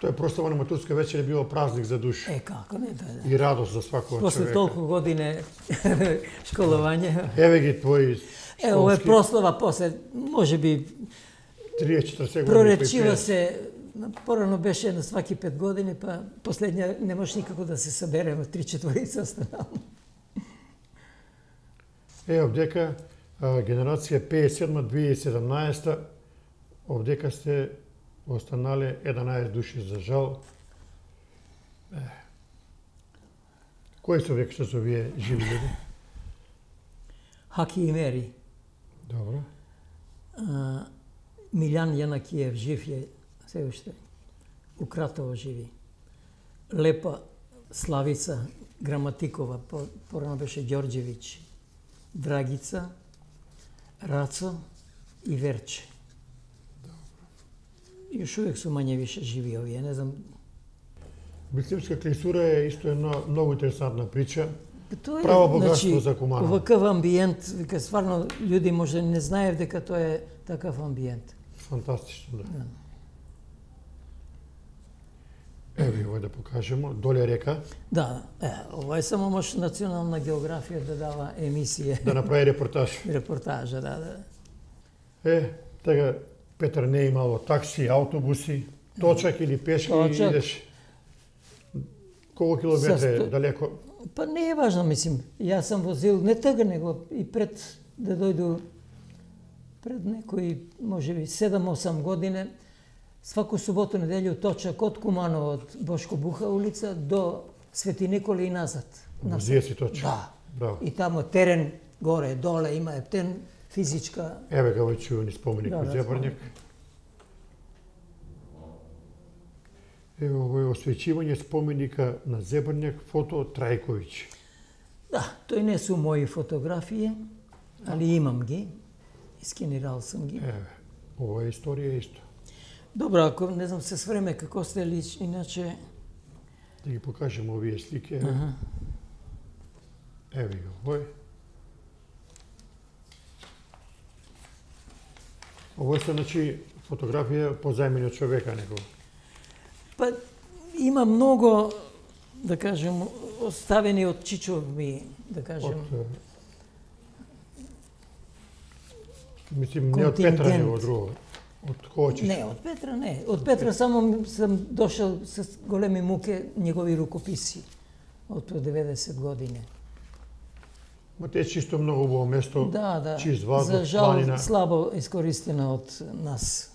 Тоа е прослава на матурска вечер е било празник за душа. Е, како не, да, да. И радост за свакога После човека. толку години школување. Еве ги твои школски. Е, ово е прослава после, може би, триесет-четиресет години. проречива се, порано беше на сваки пет години, па последња не може никако да се събереме, три-четворица останало. Е, овдека генерација петдесет и седма до две илјади и седамнаесета, овдека сте останале еднанаесет души за жал. Е. Кои се овдека што се овие живи луѓе? Хаки и Мери. Добро. А, Милјан Јанакиев жив е, се уште. У Кратово живи. Лепа Славица Граматикова, порано беше Ѓорđević. Драгица, Рацо и Верче. Добро. Још увек су мање више живи овие, не знам. Бицлевска клисура е исто една многу интересантна прича. Тоа е, право богатство значи, за Куманово. Оваков амбиент, вика стварно луѓе може не знаев дека тоа е такав амбиент. Фантастично, да. да. Еви, овој да покажемо, доле река. Да, е, ова е само може национална географија да дава емисија. Да направи репортаж. Репортажа, да, да. Е, така, Петар не е имало такси, автобуси, точак или пешки Точак. идеш. Колку километри Састо... далеко? Па не е важно, мислим. Јас сам возил не тага, него и пред да дојду пред некои, може би, седам-осам години, сваку суботу, неделју точак од Куманово, од Бошко Буха улица до Свети Николи и назад. Возија си точак. Да. Браво. И тамо терен, горе, доле, има ептен физичка... Еве га овој чувени споменик Да, во да, Зебрњак. Ево овој освеќивање споменика на Зебрњак, фото од Трајковиќ. Да, тој не су мои фотографии, али имам ги. Искенирал сам ги. Еве, ова е историја исто. Добро, ако не знам се с време како сте лич, иначе... Да ги покажем овие слики. Еве, Аха. еве ги овој. Овој се, значи, фотографија позајмени од човека некој. Па има многу, да кажем, оставени од Чичо ми, да кажем. Од, мислим, не од Петра, него од друго. Од кого Чичо? Не, од Петра не. Од Петра само сам дошол с големи муке негови рукописи од деветдесет години. Ма те е чисто многу убаво место, Да, да. чист воздух, За жал планина. слабо искористено од нас,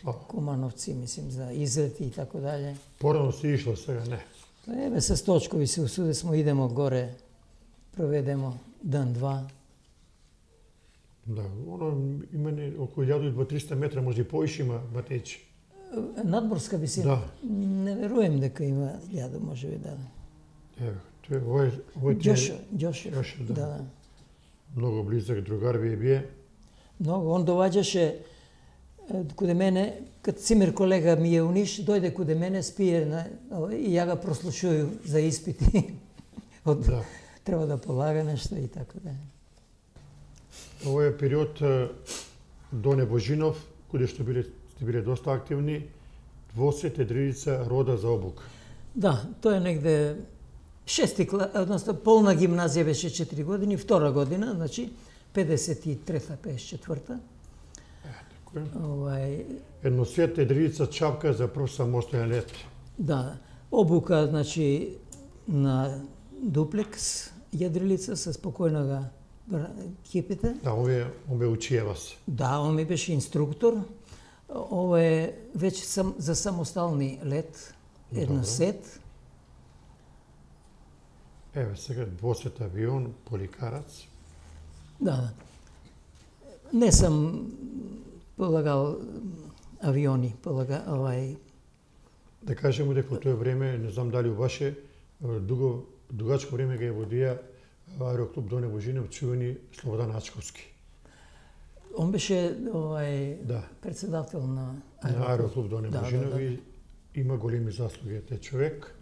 Слабо. кумановци, мислим, за излети и така дале. Порано си ишло, сега не. Еве со Сточкови се усуде смо, идемо горе, проведемо ден-два. Да, оно има не, околу илјада и дваесет метра, може и поише има батејчи. Надморска висина. Да. Не верувам дека има илјада, може би да. Еве, тој овој овој ти е Ѓошо, Ѓошо. Ѓошо, да. Да. многу близак другар ви бие. Многу. Он доваѓаше е, куде мене, кад Цимер колега ми е у Ниш, дојде куде мене, спие на, и ја го прослушую за испити. Од, Да. Треба да полага нешто и така да. Овој е период е, до Небожинов, куде што биле сте биле доста активни, двосет едриница рода за обука. Да, тоа е негде шести клас, односно полна гимназија беше четири години, втора година, значи педесет и трета, педесет и четврта. Така е. Овај, Едносет едриница чапка за прв самостојан лет. да, обука, значи, на дуплекс, јадрилица со спокојнога екипите. Да, овие овие учија вас. Да, он ми беше инструктор. Ова е веќе сам, за самостални лет, едно сет. Еве сега двосет авион, поликарац. Да, да. Не сам полагал авиони, полага, овај... Да кажеме дека во тоа време, не знам дали у ваше, дуго, дугачко време ги водија Аероклуб Доне Божинов, чувени Слободан Ачковски. Он беше овај Да. председател на На Аероклуб Доне Да, Божинов да, да. и има големи заслуги тој човек.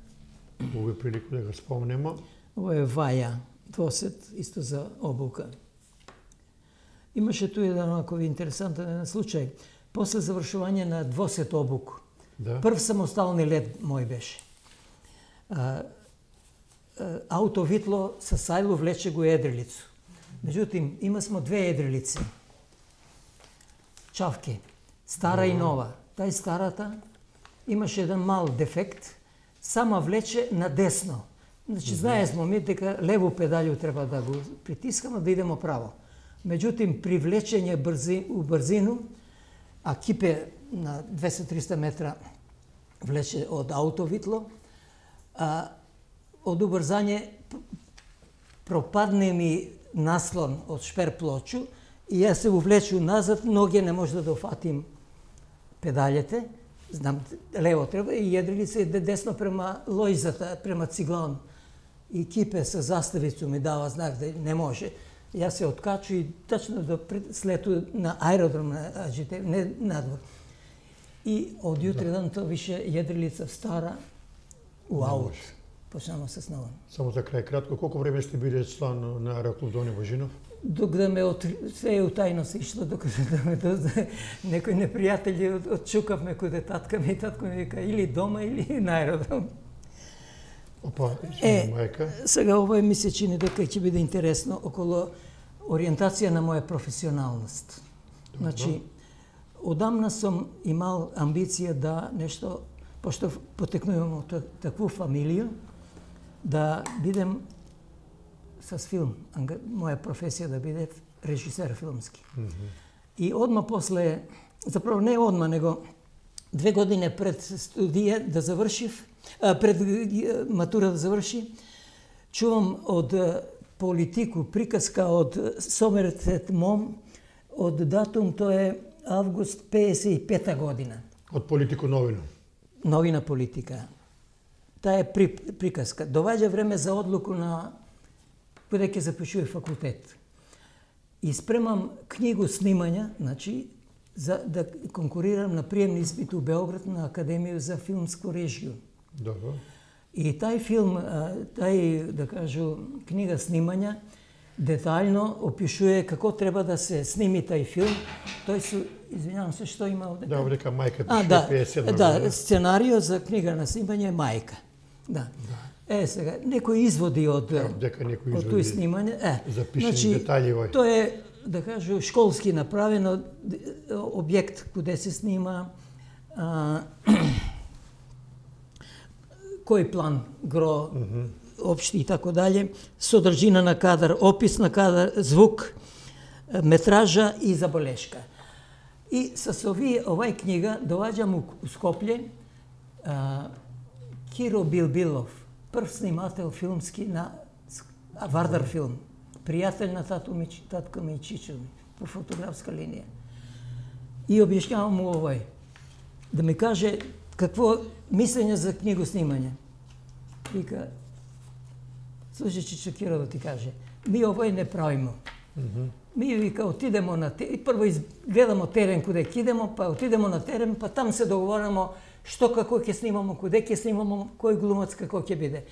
Овој прилику да го спомнемо. Ова е Ваја, двосет, исто за обука. Имаше ту еден онако интересантен случај. После завршување на двосет обук, Да. прв самостални лет мој беше. А, а, ауто Витло со Сајло влече го едрилицу. Меѓутим, има смо две едрилици. Чавки, стара и нова. Тај старата имаше еден мал дефект, сама влече на десно. Значи, знае смо ми дека лево педалју треба да го притискаме, да идемо право. Меѓутим, при влечење брзи, у брзину, а кипе на двесет до триста метра влече од ауто Витло, а, од убрзање пропадне ми наслон од шперплочу и јас се увлечу назад, ноге не може да дофатим педалите, знам, лево треба, и једрили се десно према лојзата, према Циглон. И кипе со заставицу ми дава знак да не може. Јас се откачу и точно до слету на аеродром на Аџите, не надвор. И од јутре дан тоа више једрилица стара у аут. Почнемо се снова. Само за крај кратко, колку време сте биле члан на Аероклуб Доне Божинов? Док да ме от... се е утајно се ишло, докато да ме дозна некои непријатели од, отчукавме куде татка ми и татко ми вика или дома или на аеродром. Опа, Е, мајка. сега ова ми се чини дека ќе биде интересно околу ориентација на моја професионалност. Значи, одамна сум имал амбиција да нешто, пошто потекнувам од такву фамилија, да бидем с филм, моја професија да биде режисер филмски. Mm -hmm. И одма после, заправо не одма, него две години пред студија да завршив, а, пред матура да заврши, чувам од Политику приказка од Сомерсет Мом, од датум тоа е август педесет и пета година. Од Политико новина. Новина Политика. Таа е при, приказка. Доваѓа време за одлуку на каде ќе запишува факултет. И спремам книгу снимања, значи, за да конкурирам на приемни испит у Београд на Академија за филмску режија. Добро. И тај филм, тај, да кажу, книга снимања, детаљно опишува како треба да се сними тај филм. Тој се, извинјавам се, што има овде? Да, дека мајка А, пише да, педесет седма да, година. сценарио за книга на снимање е мајка. Да. Е, сега, некои изводи од, дека некои од тој изводи снимање. Е, запишени значи, детали овој. тоа е, да кажу, школски направено објект каде се снима, а, кој план гро, mm -hmm. општи и така дале, содржина на кадар, опис на кадар, звук, метража и забелешка. И со овие, овај книга доваѓам у Скопје, а, Киро Билбилов, прв снимател филмски на Вардар филм, пријател на татко ми, татко ми Чичо ми, по фотографска линија. И објаснявам му овој, да ми каже какво мислење за книгу снимање. Вика, слушай Чичо, Киро да ти каже, ми овој не правимо. Mm -hmm. Ми вика, отидемо на терен, прво гледамо терен куде ќе идемо, па отидемо на терен, па там се договорамо што како ќе снимамо, куде ќе снимамо, кој глумац како ќе биде.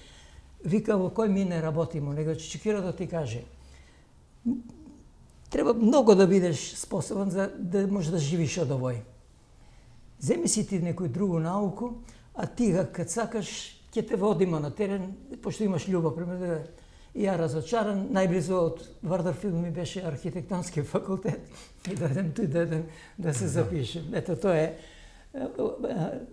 Вика, во кој ми не работимо, него Чичо Киро да ти каже, треба многу да бидеш способен за да можеш да живиш од овој. Земи си ти некој другу науку, а ти кад сакаш ќе те водиме на терен, пошто имаш љубов према да. И ја разочаран, најблизо од Вардар филм ми беше архитектонски факултет и дојдем туј да, да се запишем. Ето тоа е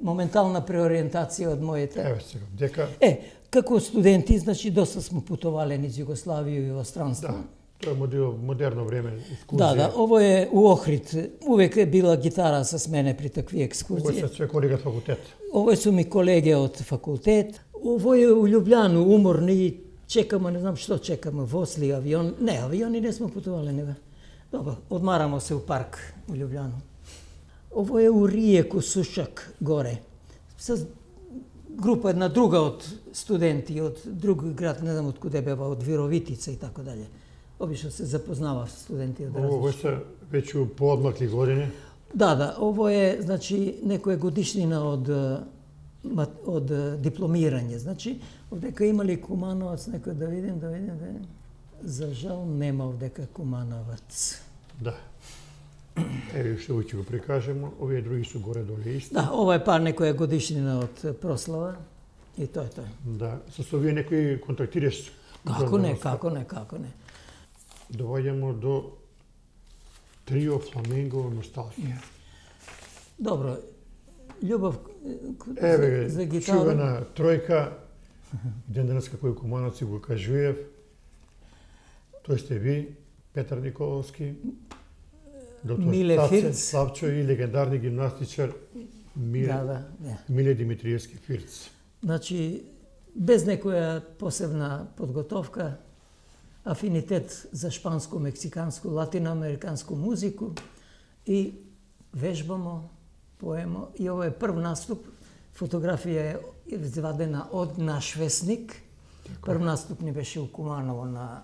моментална преориентација од моите. Еве сега, дека Е, како студенти, значи доста смо путовале низ Југославија и во странство. Да. Тоа е модел, модерно време, екскурзија. Да, да, ово е у Охрид. Увек е била гитара со мене при такви екскурзии. Ово се све колеги од факултет. Ово су ми колеги од факултет. Ово е у Љубљану, уморни, чекаме, не знам што чекаме, восли, авион. Не, авиони не сме путувале, не бе. Добро, одмарамо се у парк у Љубљану. Ово е у Риеку, Сушак, горе. Со група една друга од студенти, од друг град, не знам од куде бева, од Вировитица и така дале. Обично се запознава студенти од различни. Ово се веќе у поодмакли години. Да, да, ово е, значи, некоја годишнина од од дипломирање. Значи, овдека имали Кумановац, некој да видим, да видим, да видим. За жал нема овдека Кумановац. Да. Еве што ќе го прикажеме, овие други су горе доле исти. Да, ова е пар некоја годишнина од прослава и тоа е тоа. Да, со овие некои контактираш. Како не, како не, како не. Доаѓамо до трио Фламенго Носталгија. Добро, љубов Еве, за, за гитара. чувана тројка, ден денес како и Кумановци го кажуев, тој сте ви, Петар Николовски, доктор Миле Стаце, Фирц. Славчо и легендарни гимнастичар Миле, Да, да, да. Миле Димитриевски Фирц. Значи, без некоја посебна подготовка, афинитет за шпанско, мексиканско, латиноамериканско музику и вежбамо, поемо. И ово е прв наступ. Фотографија е извадена од наш весник. Прв наступ ни беше у Куманово на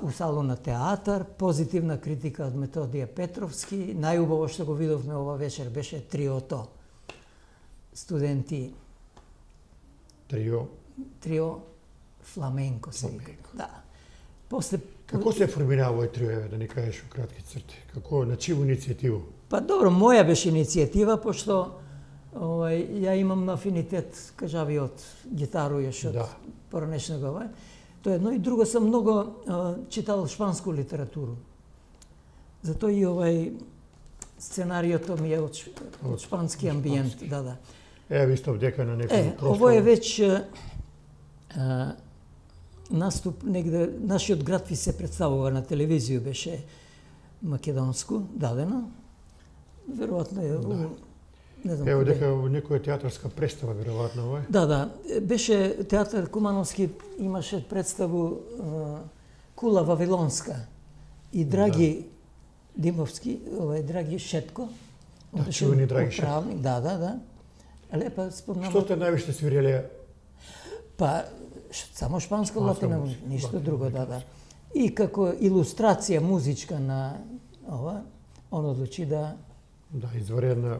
у салон на театар, позитивна критика од Методија Петровски. Најубаво што го видовме ова вечер беше триото студенти. Трио. Трио Фламенко се вика. Да. После Како се формирава овој трио, еве, да ни кажеш у кратки црти? Како, на чиву иницијативу? Па добро, моја беше иницијатива, пошто овај, ја имам афинитет, кажави, од гитару јаш од Да. поранешного овај. Тоа е едно и друго, сам многу а, читал шпанску литературу. Затоа и овај сценариото ми е од, ш- од шпански амбиент, да, да. Еве, исто вдека на некој Е, ово е веќе а, наступ негде, нашиот град ви се представува на телевизија, беше македонску, дадено. Веројатно е, да. Не знам Ево, куде. дека некоја театарска представа, веројатно, овој. Да, да, беше театар Кумановски, имаше представу а, Кула Вавилонска и Драги Димовски, овај Драги Шетко. Он Да, беше чувени Драги Шетко. управник, Да, да, да. Лепа спомнам. Што те највише свиреле? Па, ш- само шпанско А, латино, само ништо латино, друго, да, да. И како илустрација музичка на ова, он одлучи да, Да, изваредна,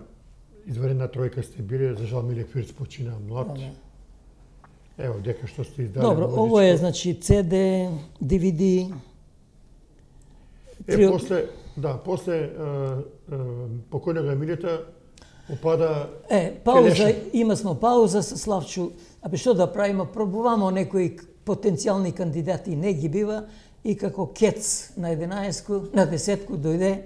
изваредна тројка сте биле, за жал Миле Фирц почина млад. да, да. Ево, дека што сте издали. Добро, музичко. ово е, значи, Це Де, Ди Ви Ди. Е, Трио- после, да, после е, е, покојнога Милета опада Е, пауза, Келеша. има смо пауза со Славчу. Абе што да правиме? Пробуваме некои к- потенцијални кандидати, не ги бива. И како кец на единаесетку, на десетку дојде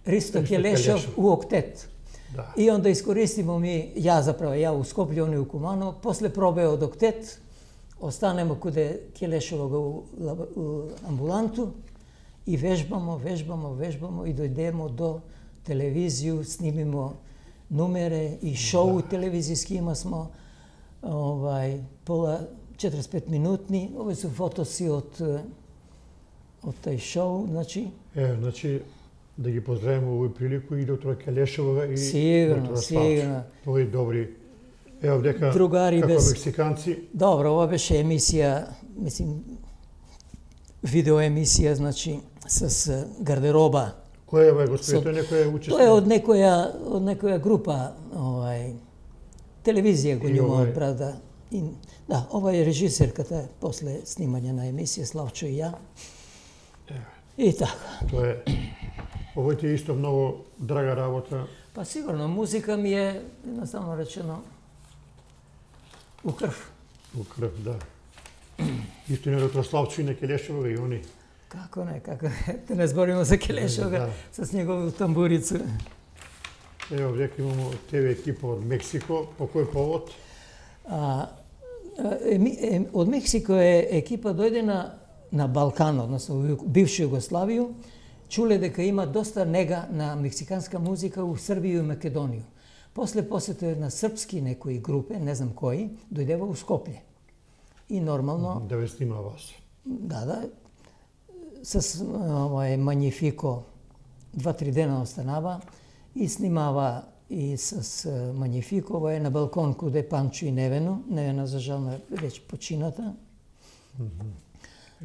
Ристо Ристо Келешов Келешов. у октет. Да. И онда искористимо ми, ја заправо, ја у Скопје, они у Куманово, после пробе од октет, останемо куде Келешова го у, лаб- у амбуланту и вежбамо, вежбамо, вежбамо и дојдемо до телевизију, снимимо нумере и шоу телевизијски има смо, овај, пола четиридесет и пет минутни, овој се фотоси од е, од тај шоу, значи, Е, значи, да ги поздравиме овој прилику и доктора Келешова и Сигурно, доктора сигурно. Славчо. Овој добри. Ево, дека Другари како без- мексиканци, добро, ова беше емисија, мислим, видеоемисија, значи, с е, гардероба. кој е овој господин, Со- тој некој учесник? Тоа е од некоја, од некоја група, овај, телевизија го И њумаат овај- брат, да. И, да, ова е режисерката после снимање на емисија, Славчо и ја. И така. Тоа е. Овој ти е исто многу драга работа. Па сигурно, музика ми е, едноставно речено, у крв. У крв, да. Исто и на доктор Славчо и на Келешова и они. Како не, како не, да не збориме за Келешога Да. с негову тамбурицу. Ево, дека имамо тебе екипа од Мексико. По кој повод? А, е, е, од Мексико е екипа дојде на на Балкан, односно во бивша Југославија, чуле дека има доста нега на мексиканска музика у Србија и Македонија. После посетува на српски некои групи, не знам кои, дојдева у Скопје. И нормално... Да ве снима вас. Да, да. С овој Магнифико два-три дена останава и снимава и с Магнифико, ова е на балкон куде Панчо и Невено. Невена, за жал, веќе почината.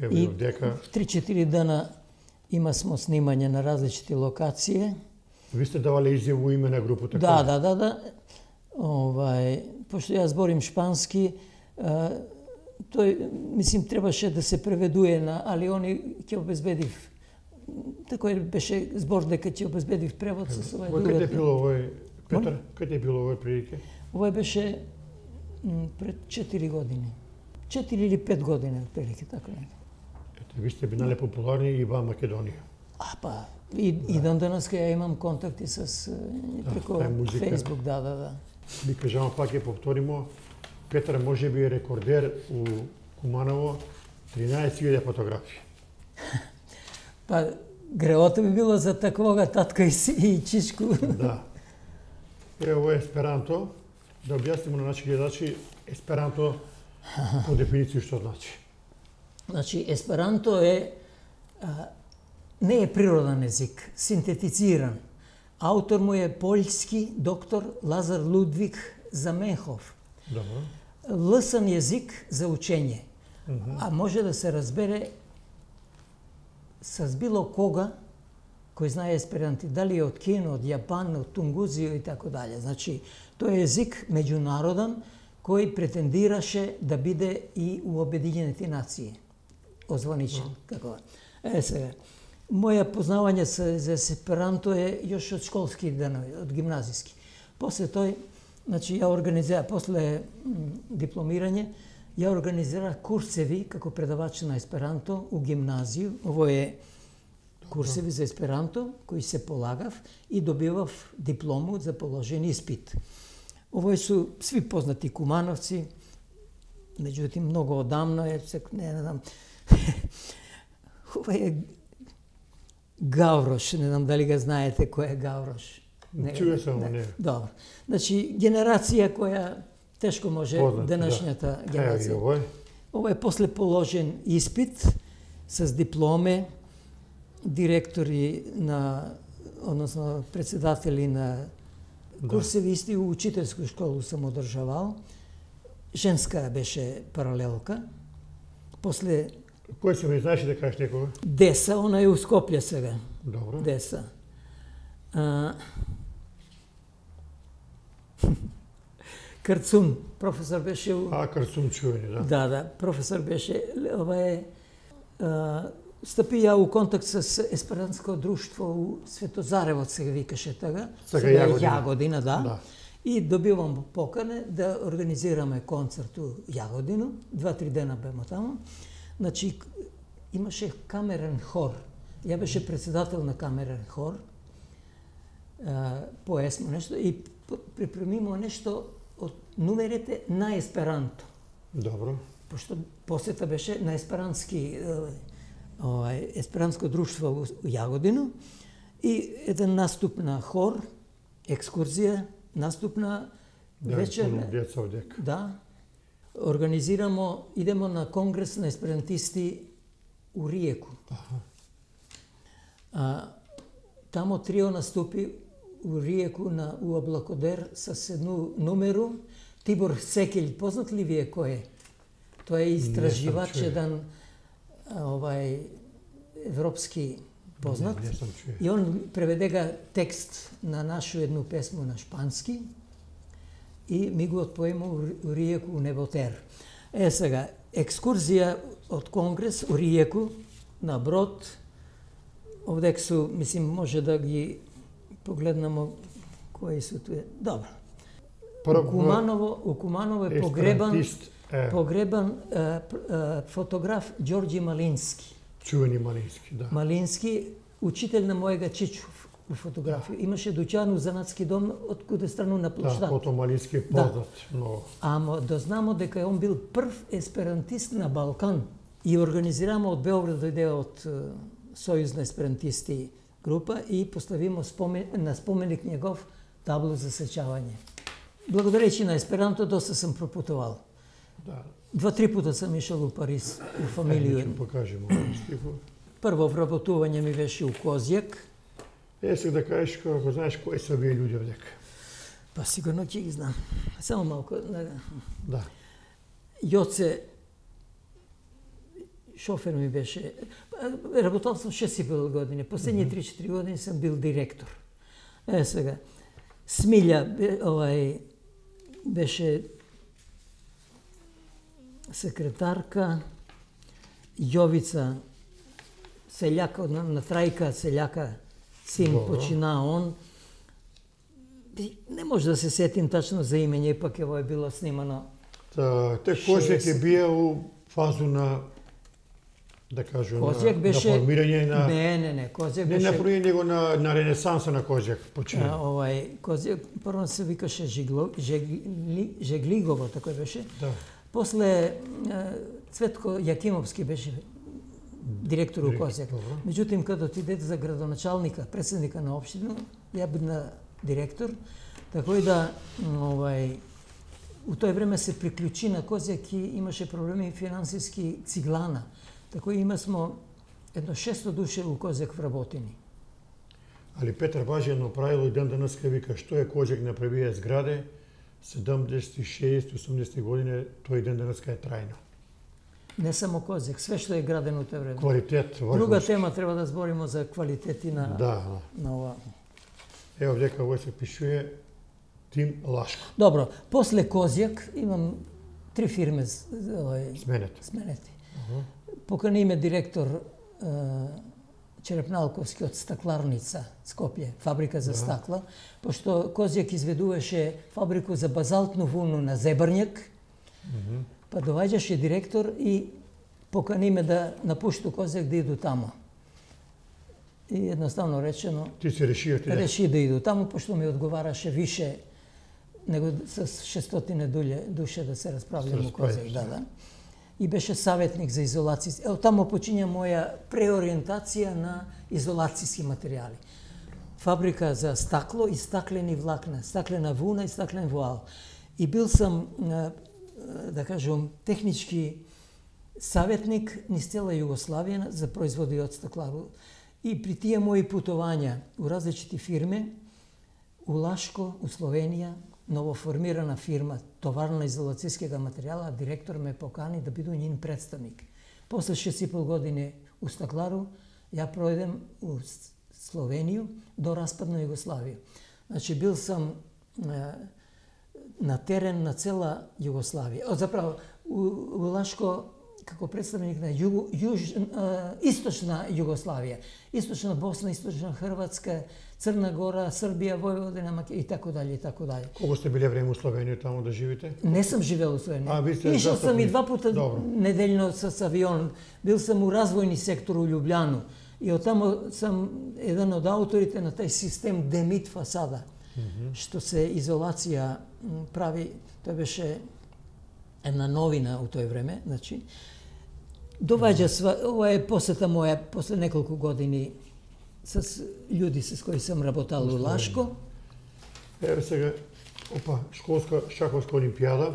Ево и дека... три-четири дена има смо снимање на различити локации. Ви сте давале изјаву име на групата? Да, да, да, да. Овај, пошто јас зборим шпански, а, тој, мислим, требаше да се преведуе на, али они ќе обезбедив. Такој беше збор дека ќе обезбедив превод со овај другата. Каде е било овој, Петар? Каде е било овој прилike? Овој беше м, пред четири години. четири или пет години, прилike, така нека. Ете, ви сте бинале популарни и во Македонија. А, па, и, да. и дон денес ја имам контакти с преко да, Facebook, да, да, да. Ви кажам, пак ќе повторимо, Петар може би е рекордер у Куманово, тринаесет илјади фотографии. Па, греото би било за таквога татка и, и чичку. Да. Е, ово е есперанто. Да објаснимо на наши гледачи, есперанто по дефиниција што значи. Значи, есперанто е а, не е природен език, синтетициран. Автор му е поljски доктор Лазар Лудвиг Заменхов. Добро. Лесен език за учење, Mm -hmm. а може да се разбере с било кога кој знае есперанти, дали од Кина, од Јапан, од Тунгузија и така дале. Значи, тој е език меѓународен кој претендираше да биде и у Обединените нации. Озваничен, mm -hmm. како. Е сега, моја познавање за есперанто е још од школски денови, од гимназиски. После тој, значи, ја организира, после дипломирање, ја организира курсеви како предавач на есперанто у гимназију. Ово е курсеви за есперанто кои се полагав и добивав диплому за положен испит. Овој су сви познати кумановци, меѓутоа многу одамно е, не знам, овој е Гаврош, не знам дали га знаете кој е Гаврош. Чуе само, не. Добро. Значи, генерација која тешко може Познати, денешната да. генерација. Ево, овој. Ова е после положен испит с дипломе, директори на, односно председатели на курсеви, исти у учителску школу сам одржавал. Женска беше паралелка. После Кој се ми знаеш да кажеш некога? Деса, она е у Скопје сега. Добро. Деса. А... Карцун, професор беше у... А, Карцун чуени, да. Да, да, професор беше, ова е, а, стапи ја у контакт с есперантско друштво у Светозаревот, сега викаше тага. Сега сега Јагодина. Јагодина, да. Да. И добивам покане да организираме концерт у Јагодину. Два-три дена бемо таму. Значи, имаше камерен хор. Ја беше председател на камерен хор. А, поесмо нешто и припремимо нешто од нумерите на есперанто. Добро. Пошто посета беше на есперантски, овај, есперантско друштво у Јагодину и еден наступ на хор, екскурзија, наступ на Да, вечер. пуно деца овдека. Да. Организирамо, идемо на конгрес на есперантисти у Риеку. Аха. А, тамо трио наступи у Риеку на у Аблакодер с едну нумеру. Тибор Секелј, познат ли ви е кој е? Тој е истраживач, еден овај европски познат. Не, не сам чуе. И он преведега текст на нашу едну песму на шпански и ми го отпоема у Риеку у Неботер. Е сега, екскурзија од конгрес у Риеку на брод. Овдек су, мислим, може да ги погледнемо кои су туе. Добро. У Куманово, у Куманово е погребан, е. погребан е, е, фотограф Ѓорѓи Малински. Чувени Малински, да. Малински, учител на мојега чичо у фотографија. Имаше дуќан у занатски дом од куде страну на площад. Да, Кото Малински е познат, да. Много. Ама дознамо дека он бил прв есперантист на Балкан. И организираме од Белград, дојде од Сојузна есперантисти група и поставимо спомен, на споменик негов табло за сечавање. Благодарејќи на есперанто доста сам пропутувал. Да. Два-три пута сам ишел у Париз, у фамилију. Е, покажемо стихот. Прво вработување ми беше у Козјак. Е, сега да кажеш, ако знаеш кои се овие луѓе овдека. Па сигурно ќе ги знам. Само малку. Да. Јоце, шофер ми беше, работал сум шест и пет години, последни три-четири години сам бил директор. Е сега, Смилја овај беше секретарка, Јовица селјака на, на Трајка, селјака син Добро. Почина он. Не може да се сетим тачно за имење, пак ево е било снимано. Та, те Козјак е бија у фазу на, да кажу, Козјак на, беше... на формирање на... Не, не, не, Козјак не беше... Не на формирање, него на, на ренесанса на Козјак почина. А, овај, Козјак, прво се викаше Жигло, Жегли, Жеглигово, така беше. Да. После Цветко Јакимовски беше директор у Козјак. Меѓутоа, кога отиде за градоначалника, председника на општина, ја бил директор, така и да, овај, у тој време се приклучи на Козјак и имаше проблеми финансиски Циглана. Така и има смо едно шесто души у Козјак вработени. Али Петар Важијано правило и ден денеска вика што е Козјак направија зграде, седумдесети, шеести, осумдесети години, тој ден денеска е трајно. Не само Козјак, све што е градено у тој време. Квалитет, важност. Друга тема треба да збориме за квалитети на, да. на ова. Ево вдека овој се пишува Тим Лашко. Добро, после Козјак имам три фирме овај, сменети. сменети. Uh -huh. Покани ме директор е, Черепналковски од стакларница Скопје, фабрика за да. стакла, пошто Козјак изведуваше фабрику за базалтну вуну на Зебрњак, uh -huh. па доаѓаше директор и покани ме да напушту Козјак да иду тамо. И едноставно речено, ти се реши, ти реши да иду тамо, пошто ми одговараше више него с шестстотини душе да се расправljamo у Козјак. Да, да. И беше саветник за изолација. Ево тамо почиња моја преориентација на изолацијски материјали. Фабрика за стакло и стаклени влакна, стаклена вуна и стаклен вуал. И бил сам, да кажем, технички саветник низ цела Југославија за производи од стаклару. И при тие мои путувања у различити фирми, у Лашко, у Словенија, новоформирана фирма, товарна изолацијскega материјала, директор ме покани да бидам njin представник. После шест и пол години у стаклару, ја пројдем у Словенију до распадна Југославија. Значи, бил сам е, на терен на цела Југославија. О, заправо, у, у Лашко, како представник на југ, јуж, е, источна Југославија, источна Босна, источна Хрватска, Црна Гора, Србија, Војводина, Македонија и така дале и така дале. Колку сте биле време у Словенија таму да живите? Не сум живел у Словенија. А, ви сте Ишел сам и два пута Добро. неделно с авион. Бил сум у развојни сектор у Љубљану. И оттамо сам еден од авторите на тај систем Демит фасада, mm -hmm. што се изолација прави, тој беше една новина у тој време, значи. Доваѓа сва, ова е посета моја после неколку години с луѓе с кои сам работал у Лашко. Еве сега, опа, школска шаховска олимпијада.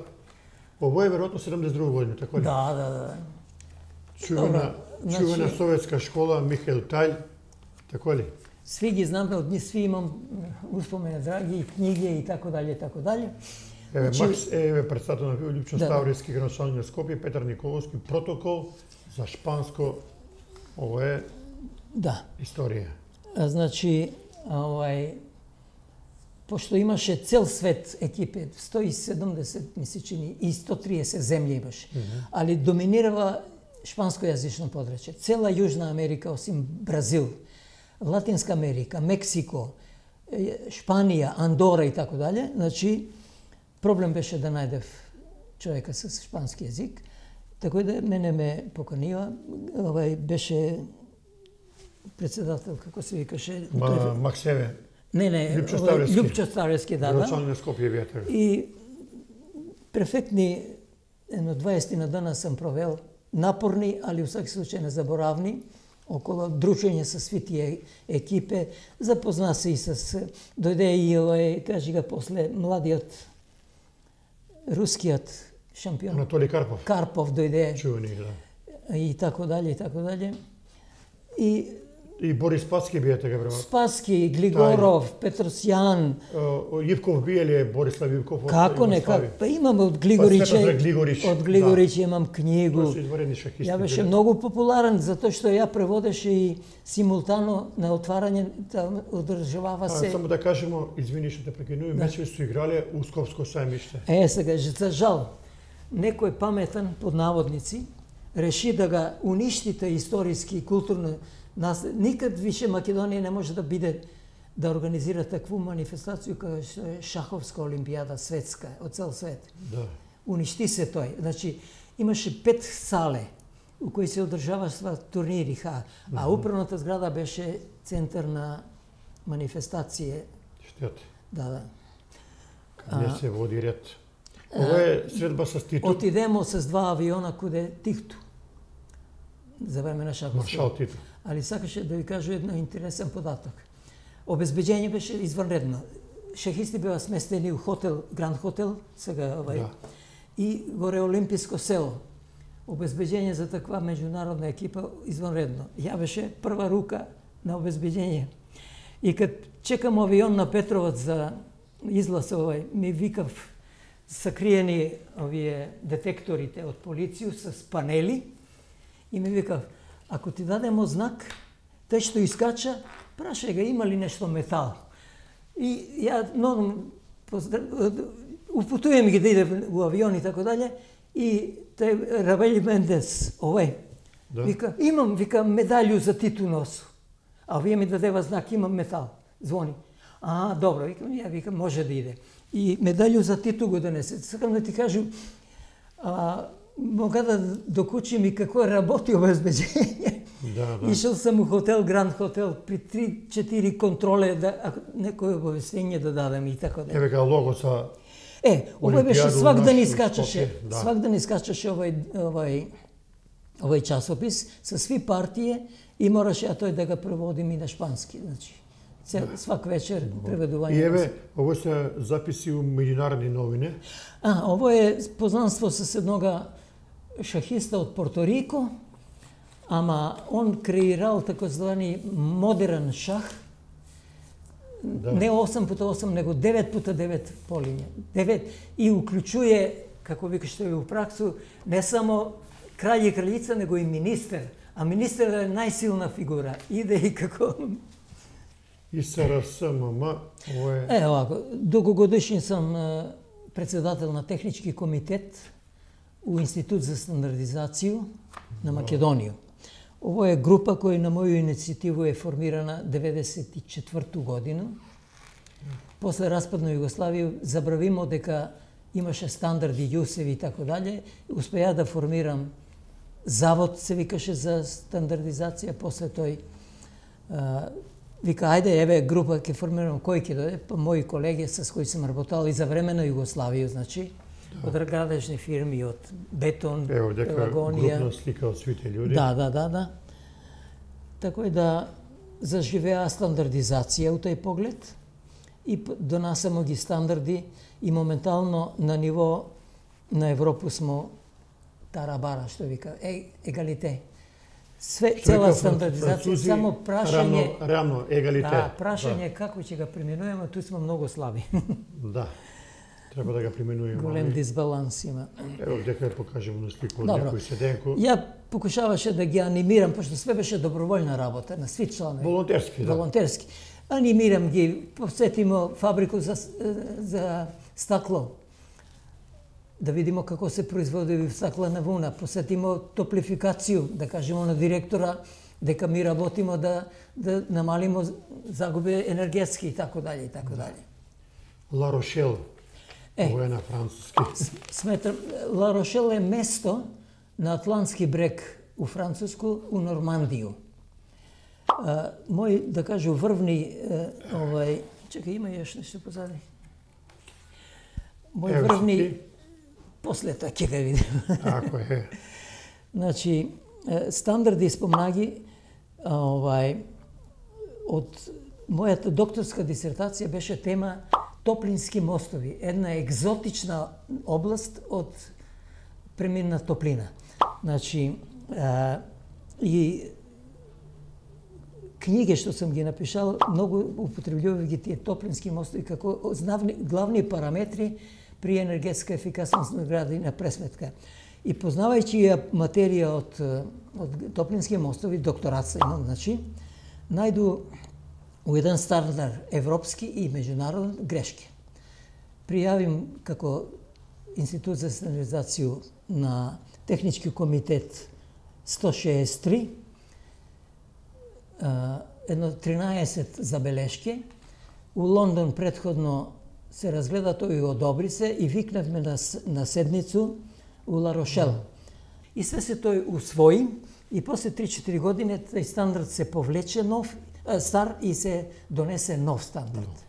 Ово е веројатно седумдесет и друга година, така ли? Да, да, да. Чувена, значи, чувена советска школа Михаил Тајл, така ли? Сви ги знаме, од нив сви имам успомени драги, и книги и така дале, така дале. Еве, Значи, Макс, еве председател на Лјупчо да, Ставријски, градоначалник на Скопје, Петар Николовски, протокол за шпанско, ово е да. историја. А, значи, овај, пошто имаше цел свет екипе, сто и седумдесет мисли чини и сто триесет земји имаше, mm -hmm. али доминирава шпанскојазично подрачје. Цела Јужна Америка, осим Бразил, Латинска Америка, Мексико, Шпанија, Андора и така дале, значи, проблем беше да најдев човека с шпански јазик, така да мене ме поканива, овај беше председател, како се викаше... Ма, Максеве. Не, не, Лјупчо Ставријски. Лјупчо Ставријски, да, да. Градоначалник на Скопје вијатер. И префектни, едно дваесет на дана сам провел напорни, али у секој случај незаборавни, около дружење со сви тие екипе, запозна се и с, дојде и овој, кажи га после, младиот рускиот шампион. Анатолий Карпов. Карпов дојде. Чувани, да. И така дале, и така дале. И И Борис Спаски бие така време. Спаски, Глигоров, Петросјан. Јивков бие ли Борислав Јивков? Како не, како? Па имам од Глигориче. Па, Глигорич, од Глигорич да. Имам книгу. Ја беше многу популарен затоа што ја преводеше и симултано на отварање, да одржавава се. А, само да кажемо, извини што те прекинувам, да. Мечеви су играле у Скопско сајмиште. Е, сега, за жал, некој паметен, под наводници, реши да га уништите историски и културно. Нас, никад више Македонија не може да биде да организира такву манифестација како што е шаховска олимпијада светска од цел свет. Да. Уништи се тој. Значи имаше пет сале у кои се одржаваа турнири, ха, а mm-hmm. управната зграда беше центар на манифестација. Штет. Да, да. Каде се води ред. Ова е средба со Титу. Отидемо с два авиона куде Титу. За време на шаховска. Маршал Титу. Али сакаше да ви кажу едно интересен податок. Обезбеđење беше изванредно. Шахисти беа сместени у хотел, Гранд хотел, сега овај, да. И горе Олимписко село. Обезбеđење за таква меѓународна екипа изванредно. Ја беше прва рука на обезбеđење. И кад чекам авион на Петроваc за излаз овај, ми викав сакриени овие детекторите од полицију с панели и ми викав, ако ти дадемо знак, тој што искача, прашај ga има ли нешто метал. И ја но упутувам ги да иде у авион и така дале, и тој Равели Мендес, овој, да. Вика, имам, вика, медаљу за Титу носу. А овие ми дадева знак, имам метал. Звони. А, добро, викам, ја викам, може да иде. И медаљу за Титу го донесе. Сакам да ти кажам, а, мога да докучим и како работи обезбеđење. Да, да. Ишел сам у хотел, Гранд хотел, при три-четири контроле, да, некој обавестење да дадем и така да. Еве га лого са Е, овој беше свак ден искачаше, да. Свак ден искачаше овој, овој, овој часопис со сви партии и мораше а тој да го преводим и на шпански, значи. Цел, да. Свак вечер преведување. И еве, ово се записи у меѓународни новини. А, ово е познанство со еднога шахиста од Порто Рико, ама он креирал такозвани модерен шах, да. Не осам пута осам, него девет пута девет полиња. девет и уклучуе, како вика што е у праксу, не само краљ и кралица, него и министер. А министер е најсилна фигура. Иде и како... И СРСММ, ово е... Е, овако, долгогодишен сам председател на технички комитет у Институт за стандардизацију на Македонија. Ово е група која на моја иницијатива е формирана деветдесет и четврту година. После распад на Југославија забравимо дека имаше стандарди, јусеви и така дале. Успеа да формирам завод, се викаше за стандардизација, после тој а, вика, ајде, еве група ќе формирам, кој ќе дојде, па мои колеги с кои сум работал и за време на Југославија, значи, да. Од градежни фирми, од Бетон, Ево, дека Пелагонија. Групна слика од свите луѓе. Да, да, да, да. Така и да заживеа стандардизација у тој поглед и донасемо ги стандарди и моментално на ниво на Европу смо тарабара, што вика, е, егалите. Све, цела стандардизација, само прашање... Равно, равно егалите. Да, прашање да. Како ќе га применуваме, туј сме многу слаби. Да. Треба да ga применуваме. Голем дисбаланс има. Ево, дека ја покажемо на слика од некој седенко. Ја покушаваше да ги анимирам, пошто све беше доброволна работа на сви членови. Волонтерски, да. Волонтерски. Анимирам ги, посетимо фабрику за, за стакло. Да видимо како се производи стаклена вуна. Посетимо топлификацију, да кажемо на директора дека ми работимо да, да намалимо загуби енергетски и така дали и така дали. Ла Рошел. Е, Ово е на француски. Сметрам, Ла Рошел е место на Атлантски брег у Француску, у Нормандију. А, мој, да кажу, врвни, овај, чекај, има јаш нешто позади. Мој врвни, после тоа ќе га видим. Ако е. Значи, стандарди спомнаги, овај, од мојата докторска дисертација беше тема топлински мостови, една екзотична област од премирна топлина. Значи, а, и книги што сум ги напишал, многу употребljував ги тие топлински мостови како главни, главни параметри при енергетска ефикасност на гради на пресметка. И познавајќи ја материја од, од топлински мостови, докторат се имам, значи, најду у еден стандард европски и меѓународен грешки. Пријавим како Институт за стандардизација на Технички комитет сто шеесет и три, едно тринаесет забелешки. У Лондон претходно се разгледа тој и одобри се и викнавме на, на седницу у Ла Рошел. И све се тој усвои и после три-четири години тој стандард се повлече нов, стар и се донесе нов стандард.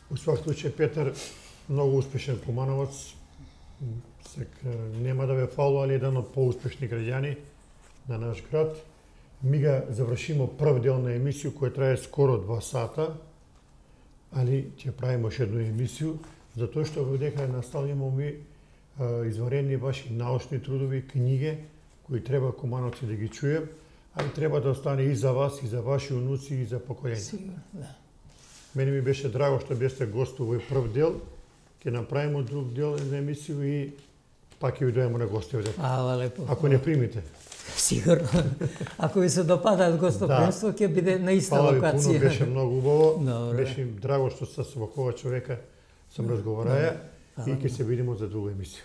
Во свак случај, Петар, многу успешен кумановац. Сека, нема да ве фалува, али еден од поуспешни граѓани на наш град. Ми га завршимо прв дел на емисија која трае скоро два сата, али ќе правиме уште едну емисiju, затоа што додека наставljamo ми изварени ваши научни трудови, книги, кои треба кумановци да ги чујем, али треба да остане и за вас, и за ваши унуци, и за поколенија. Сигурно, да. Мене ми беше драго што бесте гост овој прв дел. Ќе направиме друг дел на емисија и пак ќе ви дојдеме на гости овде. Фала лепо. Ако не примите. Сигурно. Ако ви се допадаат гостопримство, ќе биде на иста локација. локација. Фала ви пуно, беше многу убаво. Добре. Беше драго што со вакова човека сам разговараја и ќе се видиме за друга емисија.